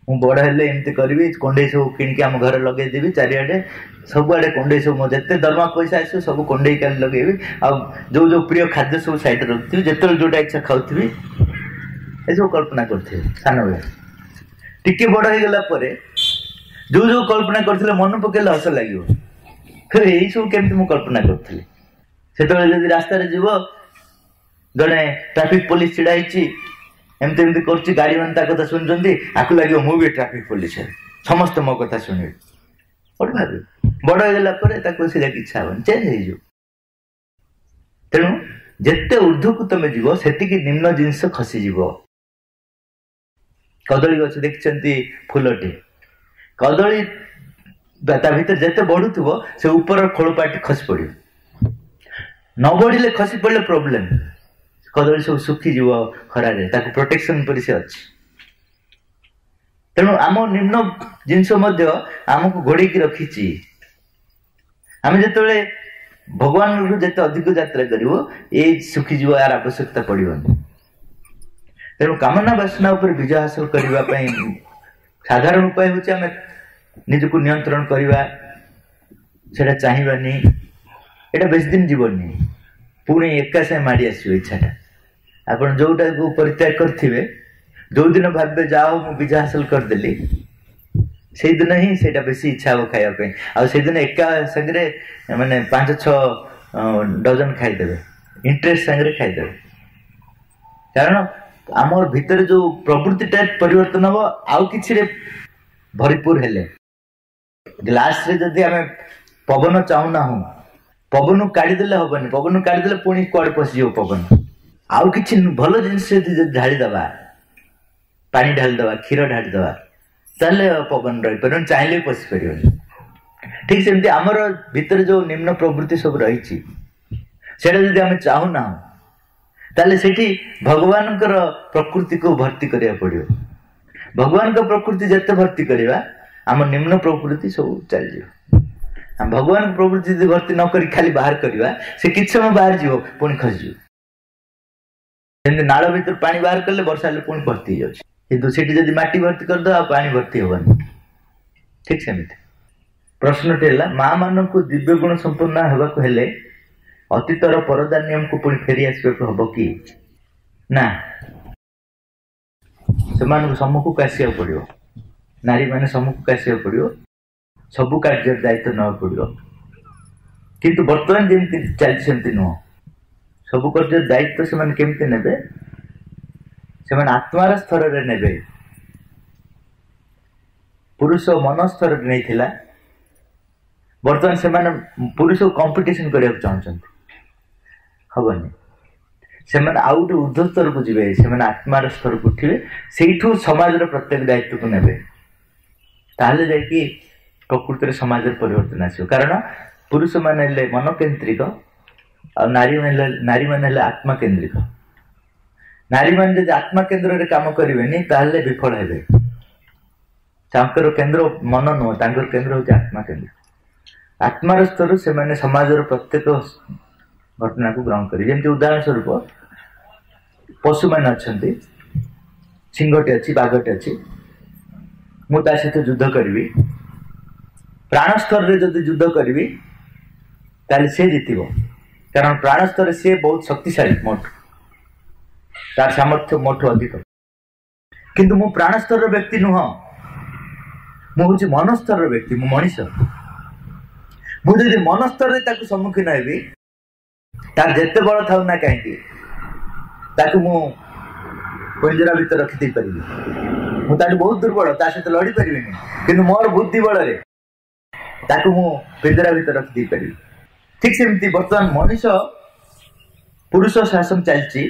ମୁଁ ବଡ଼ ହେଲେ ଏମିତି କରିବି, କଣ୍ଢେଇ ସବୁ କିଣିକି ଆମ ଘରେ ଲଗେଇଦେବି, ଚାରିଆଡ଼େ ସବୁଆଡ଼େ କଣ୍ଢେଇ ସବୁ, ମୋ ଯେତେ ଦରମା ପଇସା ଆସିବ ସବୁ କଣ୍ଢେଇ କାଲି ଲଗେଇବି, ଆଉ ଯୋଉ ଯୋଉ ପ୍ରିୟ ଖାଦ୍ୟ ସବୁ ସାଇଡ଼ରେ ରଖିଥିବି, ଯେତେବେଳେ ଯୋଉଟା ଇଚ୍ଛା ଖାଉଥିବି, ଏସବୁ କଳ୍ପନା କରୁଥିବେ ସାନବେଳେ। ଟିକେ ବଡ଼ ହେଇଗଲା ପରେ ଯୋଉ ଯୋଉ କଳ୍ପନା କରୁଥିଲେ ମନେ ପକେଇଲେ ହସ ଲାଗିବ, ଏଇସବୁ କେମିତି ମୁଁ କଳ୍ପନା କରୁଥିଲି। ସେତେବେଳେ ଯଦି ରାସ୍ତାରେ ଯିବ, ଜଣେ ଟ୍ରାଫିକ ପୋଲିସ ଛିଡ଼ା ହେଇଛି, ଏମିତି ଏମିତି କରୁଛି, ଗାଡ଼ି ମାନେ ତା କଥା ଶୁଣୁଛନ୍ତି, ଆକୁ ଲାଗିବ ମୁଁ ବି ଟ୍ରାଫିକ ପୋଲିସ, ସମସ୍ତେ ମୋ କଥା ଶୁଣିବେ। ବଡ଼ ଭାବିବ, ବଡ଼ ହେଇଗଲା ପରେ ତାକୁ ସେଇଟା ଇଚ୍ଛା ହବନି, ଚେଞ୍ଜ ହେଇଯିବ। ତେଣୁ ଯେତେ ଉର୍ଦ୍ଧ୍ୱକୁ ତମେ ଯିବ ସେତିକି ନିମ୍ନ ଜିନିଷ ଖସିଯିବ। କଦଳୀ ଗଛ ଦେଖିଛନ୍ତି ଫୁଲଟି, କଦଳୀ ତା ଭିତରେ ଯେତେ ବଢୁଥିବ ସେ ଉପର ଖୋଳପାଟି ଖସି ପଡିବ। ନ ବଢିଲେ ଖସି ପଡିଲେ ପ୍ରୋବ୍ଲେମ, କଦଳୀ ସବୁ ଶୁଖିଯିବ ଖରାରେ, ତାକୁ ପ୍ରୋଟେକ୍ସନ ପରି ସେ ଅଛି। ତେଣୁ ଆମ ନିମ୍ନ ଜିନିଷ ମଧ୍ୟ ଆମକୁ ଘୋଡେଇକି ରଖିଛି। ଆମେ ଯେତେବେଳେ ଭଗବାନଙ୍କଠୁ ଯେତେ ଅଧିକ ଯାତ୍ରା କରିବ, ଏଇ ଶୁଖିଯିବ, ଏହାର ଆବଶ୍ୟକତା ପଡିବନି। ତେଣୁ କାମନା ବାସନା ଉପରେ ବିଜୟ ହାସଲ କରିବା ପାଇଁ ସାଧାରଣ ଉପାୟ ହେଉଛି ଆମେ ନିଜକୁ ନିୟନ୍ତ୍ରଣ କରିବା, ସେଟା ଚାହିଁବାନି। ଏଇଟା ବେଶୀ ଦିନ ଯିବନି, ପୁଣି ଏକା ସାଙ୍ଗେ ମାଡ଼ି ଆସିବ ଇଚ୍ଛାଟା। ଆପଣ ଯୋଉଟାକୁ ପରିତ୍ୟାଗ କରିଥିବେ, ଯୋଉଦିନ ଭାବିବେ ଯାହା ହଉ ମୁଁ ବିଜୟ ହାସଲ କରିଦେଲି, ସେଇଦିନ ହିଁ ସେଇଟା ବେଶୀ ଇଚ୍ଛା ହବ ଖାଇବା ପାଇଁ। ଆଉ ସେଇଦିନ ଏକା ସାଙ୍ଗରେ ମାନେ ପାଞ୍ଚ ଛଅ ଡଜନ ଖାଇଦେବେ, ଇଣ୍ଟରେଷ୍ଟ ସାଙ୍ଗରେ ଖାଇଦେବେ। କାରଣ ଆମର ଭିତରେ ଯୋଉ ପ୍ରବୃତ୍ତିଟା ପରିବର୍ତ୍ତନ ହବ ଆଉ କିଛିରେ ଭରିପୁର ହେଲେ। ଗ୍ଲାସରେ ଯଦି ଆମେ ପବନ ଚାହୁଁନାହୁଁ, ପବନକୁ କାଢିଦେଲେ ହବନି, ପବନକୁ କାଢିଦେଲେ ପୁଣି କୁଆଡେ ପଶିଯିବ ପବନ। ଆଉ କିଛି ଭଲ ଜିନିଷ ଯଦି ଯଦି ଢାଳିଦବା, ପାଣି ଢାଳିଦବା, କ୍ଷୀର ଢାଳିଦବା, ତାହେଲେ ପବନ ରହିପାରିବନି, ଚାହିଁଲେ ବି ପଶି ପାରିବନି। ଠିକ ସେମିତି ଆମର ଭିତରେ ଯୋଉ ନିମ୍ନ ପ୍ରବୃତ୍ତି ସବୁ ରହିଛି, ସେଇଟା ଯଦି ଆମେ ଚାହୁଁନାହୁଁ, ତାହେଲେ ସେଠି ଭଗବାନଙ୍କର ପ୍ରକୃତିକୁ ଭର୍ତ୍ତି କରିବାକୁ ପଡିବ। ଭଗବାନଙ୍କ ପ୍ରକୃତି ଯେତେ ଭର୍ତ୍ତି କରିବା, ଆମ ନିମ୍ନ ପ୍ରକୃତି ସବୁ ଚାଲିଯିବ। ଆମ ଭଗବାନଙ୍କ ପ୍ରକୃତି ଯଦି ଭର୍ତ୍ତି ନ କରି ଖାଲି ବାହାର କରିବା, ସେ କିଛି ସମୟ ବାହାରି ଯିବ, ପୁଣି ଖସିଯିବ। ଯେମିତି ନାଳ ଭିତରୁ ପାଣି ବାହାର କଲେ ବର୍ଷା ହେଲେ ପୁଣି ଭର୍ତ୍ତି ହେଇଯାଉଛି, କିନ୍ତୁ ସେଠି ଯଦି ମାଟି ଭର୍ତ୍ତି କରିଦେବା ଆଉ ପାଣି ଭର୍ତ୍ତି ହବନି। ଠିକ ସେମିତି ପ୍ରଶ୍ନଟି ହେଲା, ମା ମାନଙ୍କୁ ଦିବ୍ୟ ଗୁଣ ସମ୍ପନ୍ନ ହେବାକୁ ହେଲେ ଅତୀତର ପରଦା ନିୟମକୁ ପୁଣି ଫେରି ଆସିବାକୁ ହବ କି ନା? ସେମାନଙ୍କୁ ସମ୍ମୁଖକୁ ଆସିବାକୁ ପଡିବ, ନାରୀମାନେ ସମ୍ମୁଖକୁ ଆସିବାକୁ ପଡିବ, ସବୁ କାର୍ଯ୍ୟର ଦାୟିତ୍ୱ ନେବାକୁ ପଡିବ। କିନ୍ତୁ ବର୍ତ୍ତମାନ ଯେମିତି ଚାଲିଛି ସେମିତି ନୁହଁ। ସବୁ କାର୍ଯ୍ୟର ଦାୟିତ୍ୱ ସେମାନେ କେମିତି ନେବେ? ସେମାନେ ଆତ୍ମାର ସ୍ତରରେ ନେବେ। ପୁରୁଷ ମନ ସ୍ତରରେ ନେଇଥିଲା, ବର୍ତ୍ତମାନ ସେମାନେ ପୁରୁଷକୁ କମ୍ପିଟିସନ କରିବାକୁ ଚାହୁଁଛନ୍ତି, ହବନି। ସେମାନେ ଆଉ ଗୋଟେ ଉର୍ଦ୍ଧ୍ୱ ସ୍ତରକୁ ଯିବେ, ସେମାନେ ଆତ୍ମାର ସ୍ତରକୁ ଉଠିବେ, ସେଇଠୁ ସମାଜର ପ୍ରତ୍ୟେକ ଦାୟିତ୍ୱକୁ ନେବେ, ତାହେଲେ ଯାଇକି ପ୍ରକୃତିରେ ସମାଜରେ ପରିବର୍ତ୍ତନ ଆସିବ। କାରଣ ପୁରୁଷମାନେ ହେଲେ ମନକେନ୍ଦ୍ରିକ, ଆଉ ନାରୀ ନାରୀମାନେ ହେଲେ ଆତ୍ମା କେନ୍ଦ୍ରିକ। ନାରୀମାନେ ଯଦି ଆତ୍ମା କେନ୍ଦ୍ରରେ କାମ କରିବେନି ତାହେଲେ ବିଫଳ ହେବେ। ତାଙ୍କର କେନ୍ଦ୍ର ମନ ନୁହଁ, ତାଙ୍କର କେନ୍ଦ୍ର ହେଉଛି ଆତ୍ମା କେନ୍ଦ୍ର। ଆତ୍ମାର ସ୍ତରରୁ ସେମାନେ ସମାଜର ପ୍ରତ୍ୟେକ ଘଟଣାକୁ ଗ୍ରହଣ କରିବେ। ଯେମିତି ଉଦାହରଣ ସ୍ୱରୂପ ପଶୁମାନେ ଅଛନ୍ତି, ସିଂହଟେ ଅଛି, ବାଘଟେ ଅଛି, ମୁଁ ତା ସହିତ ଯୁଦ୍ଧ କରିବି। ପ୍ରାଣ ସ୍ତରରେ ଯଦି ଯୁଦ୍ଧ କରିବି ତାହେଲେ ସେ ଜିତିବ, କାରଣ ପ୍ରାଣ ସ୍ତରରେ ସିଏ ବହୁତ ଶକ୍ତିଶାଳୀ ମୋଠୁ, ତାର ସାମର୍ଥ୍ୟ ମୋଠୁ ଅଧିକ। କିନ୍ତୁ ମୁଁ ପ୍ରାଣ ସ୍ତରର ବ୍ୟକ୍ତି ନୁହଁ, ମୁଁ ହେଉଛି ମନ ସ୍ତରର ବ୍ୟକ୍ତି, ମୁଁ ମଣିଷ। ମୁଁ ଯଦି ମନ ସ୍ତରରେ ତାକୁ ସମ୍ମୁଖୀନ ହେବି, ତାର ଯେତେ ବଳ ଥାଉ ନା କାହିଁକି, ତାକୁ ମୁଁ ପିଞ୍ଜରା ଭିତରେ ରଖିଦେଇ ପାରିବି। ମୁଁ ତାଠୁ ବହୁତ ଦୁର୍ବଳ, ତା ସହିତ ଲଢି ପାରିବିନି, କିନ୍ତୁ ମୋର ବୁଦ୍ଧି ବଳରେ ତାକୁ ମୁଁ ପିଞ୍ଜରା ଭିତରେ ରଖିଦେଇ ପାରିବି। ଠିକ ସେମିତି ବର୍ତ୍ତମାନ ମଣିଷ ପୁରୁଷ ଶାସନ ଚାଲିଛି,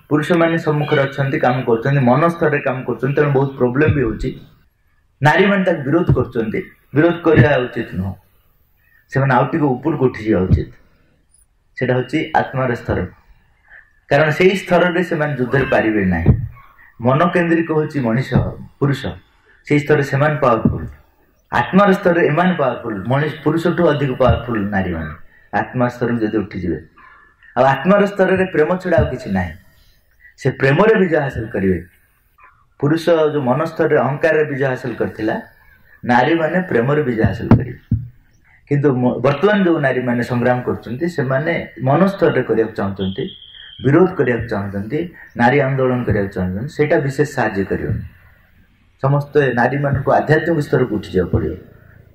ପୁରୁଷମାନେ ସମ୍ମୁଖରେ ଅଛନ୍ତି, କାମ କରୁଛନ୍ତି, ମନ ସ୍ତରରେ କାମ କରୁଛନ୍ତି, ତେଣୁ ବହୁତ ପ୍ରୋବ୍ଲେମ ବି ହେଉଛି। ନାରୀମାନେ ତାକୁ ବିରୋଧ କରୁଛନ୍ତି, ବିରୋଧ କରିବା ଉଚିତ ନୁହଁ, ସେମାନେ ଆଉ ଟିକେ ଉପରକୁ ଉଠିଯିବା ଉଚିତ। ସେଇଟା ହେଉଛି ଆତ୍ମାର ସ୍ତର, କାରଣ ସେଇ ସ୍ତରରେ ସେମାନେ ଯୁଦ୍ଧରେ ପାରିବେ ନାହିଁ। ମନ କେନ୍ଦ୍ରିକ ହେଉଛି ମଣିଷ ପୁରୁଷ, ସେଇ ସ୍ତରରେ ସେମାନେ ପାୱାରଫୁଲ। ଆତ୍ମାର ସ୍ତରରେ ଏମାନେ ପାୱାରଫୁଲ, ମଣିଷ ପୁରୁଷଠୁ ଅଧିକ ପାୱାରଫୁଲ ନାରୀମାନେ ଆତ୍ମା ସ୍ତରକୁ ଯଦି ଉଠିଯିବେ। ଆଉ ଆତ୍ମାର ସ୍ତରରେ ପ୍ରେମ ଛଡ଼ା ଆଉ କିଛି ନାହିଁ, ସେ ପ୍ରେମରେ ବିଜୟ ହାସଲ କରିବେ। ପୁରୁଷ ଯେଉଁ ମନ ସ୍ତରରେ ଅହଙ୍କାରରେ ବିଜୟ ହାସଲ କରିଥିଲା, ନାରୀମାନେ ପ୍ରେମରେ ବିଜୟ ହାସଲ କରିବେ। କିନ୍ତୁ ବର୍ତ୍ତମାନ ଯେଉଁ ନାରୀମାନେ ସଂଗ୍ରାମ କରୁଛନ୍ତି, ସେମାନେ ମନ ସ୍ତରରେ କରିବାକୁ ଚାହୁଁଛନ୍ତି, ବିରୋଧ କରିବାକୁ ଚାହୁଁଛନ୍ତି, ନାରୀ ଆନ୍ଦୋଳନ କରିବାକୁ ଚାହୁଁଛନ୍ତି, ସେଇଟା ବିଶେଷ ସାହାଯ୍ୟ କରିବନି। ସମସ୍ତେ ନାରୀମାନଙ୍କୁ ଆଧ୍ୟାତ୍ମିକ ସ୍ତରକୁ ଉଠିଯିବାକୁ ପଡ଼ିବ।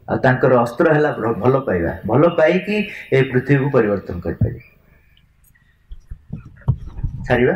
ଆଉ ତାଙ୍କର ଅସ୍ତ୍ର ହେଲା ଭଲ ପାଇବା, ଭଲ ପାଇକି ଏ ପୃଥିବୀକୁ ପରିବର୍ତ୍ତନ କରିପାରିବେ। ଛାଡ଼ିବା।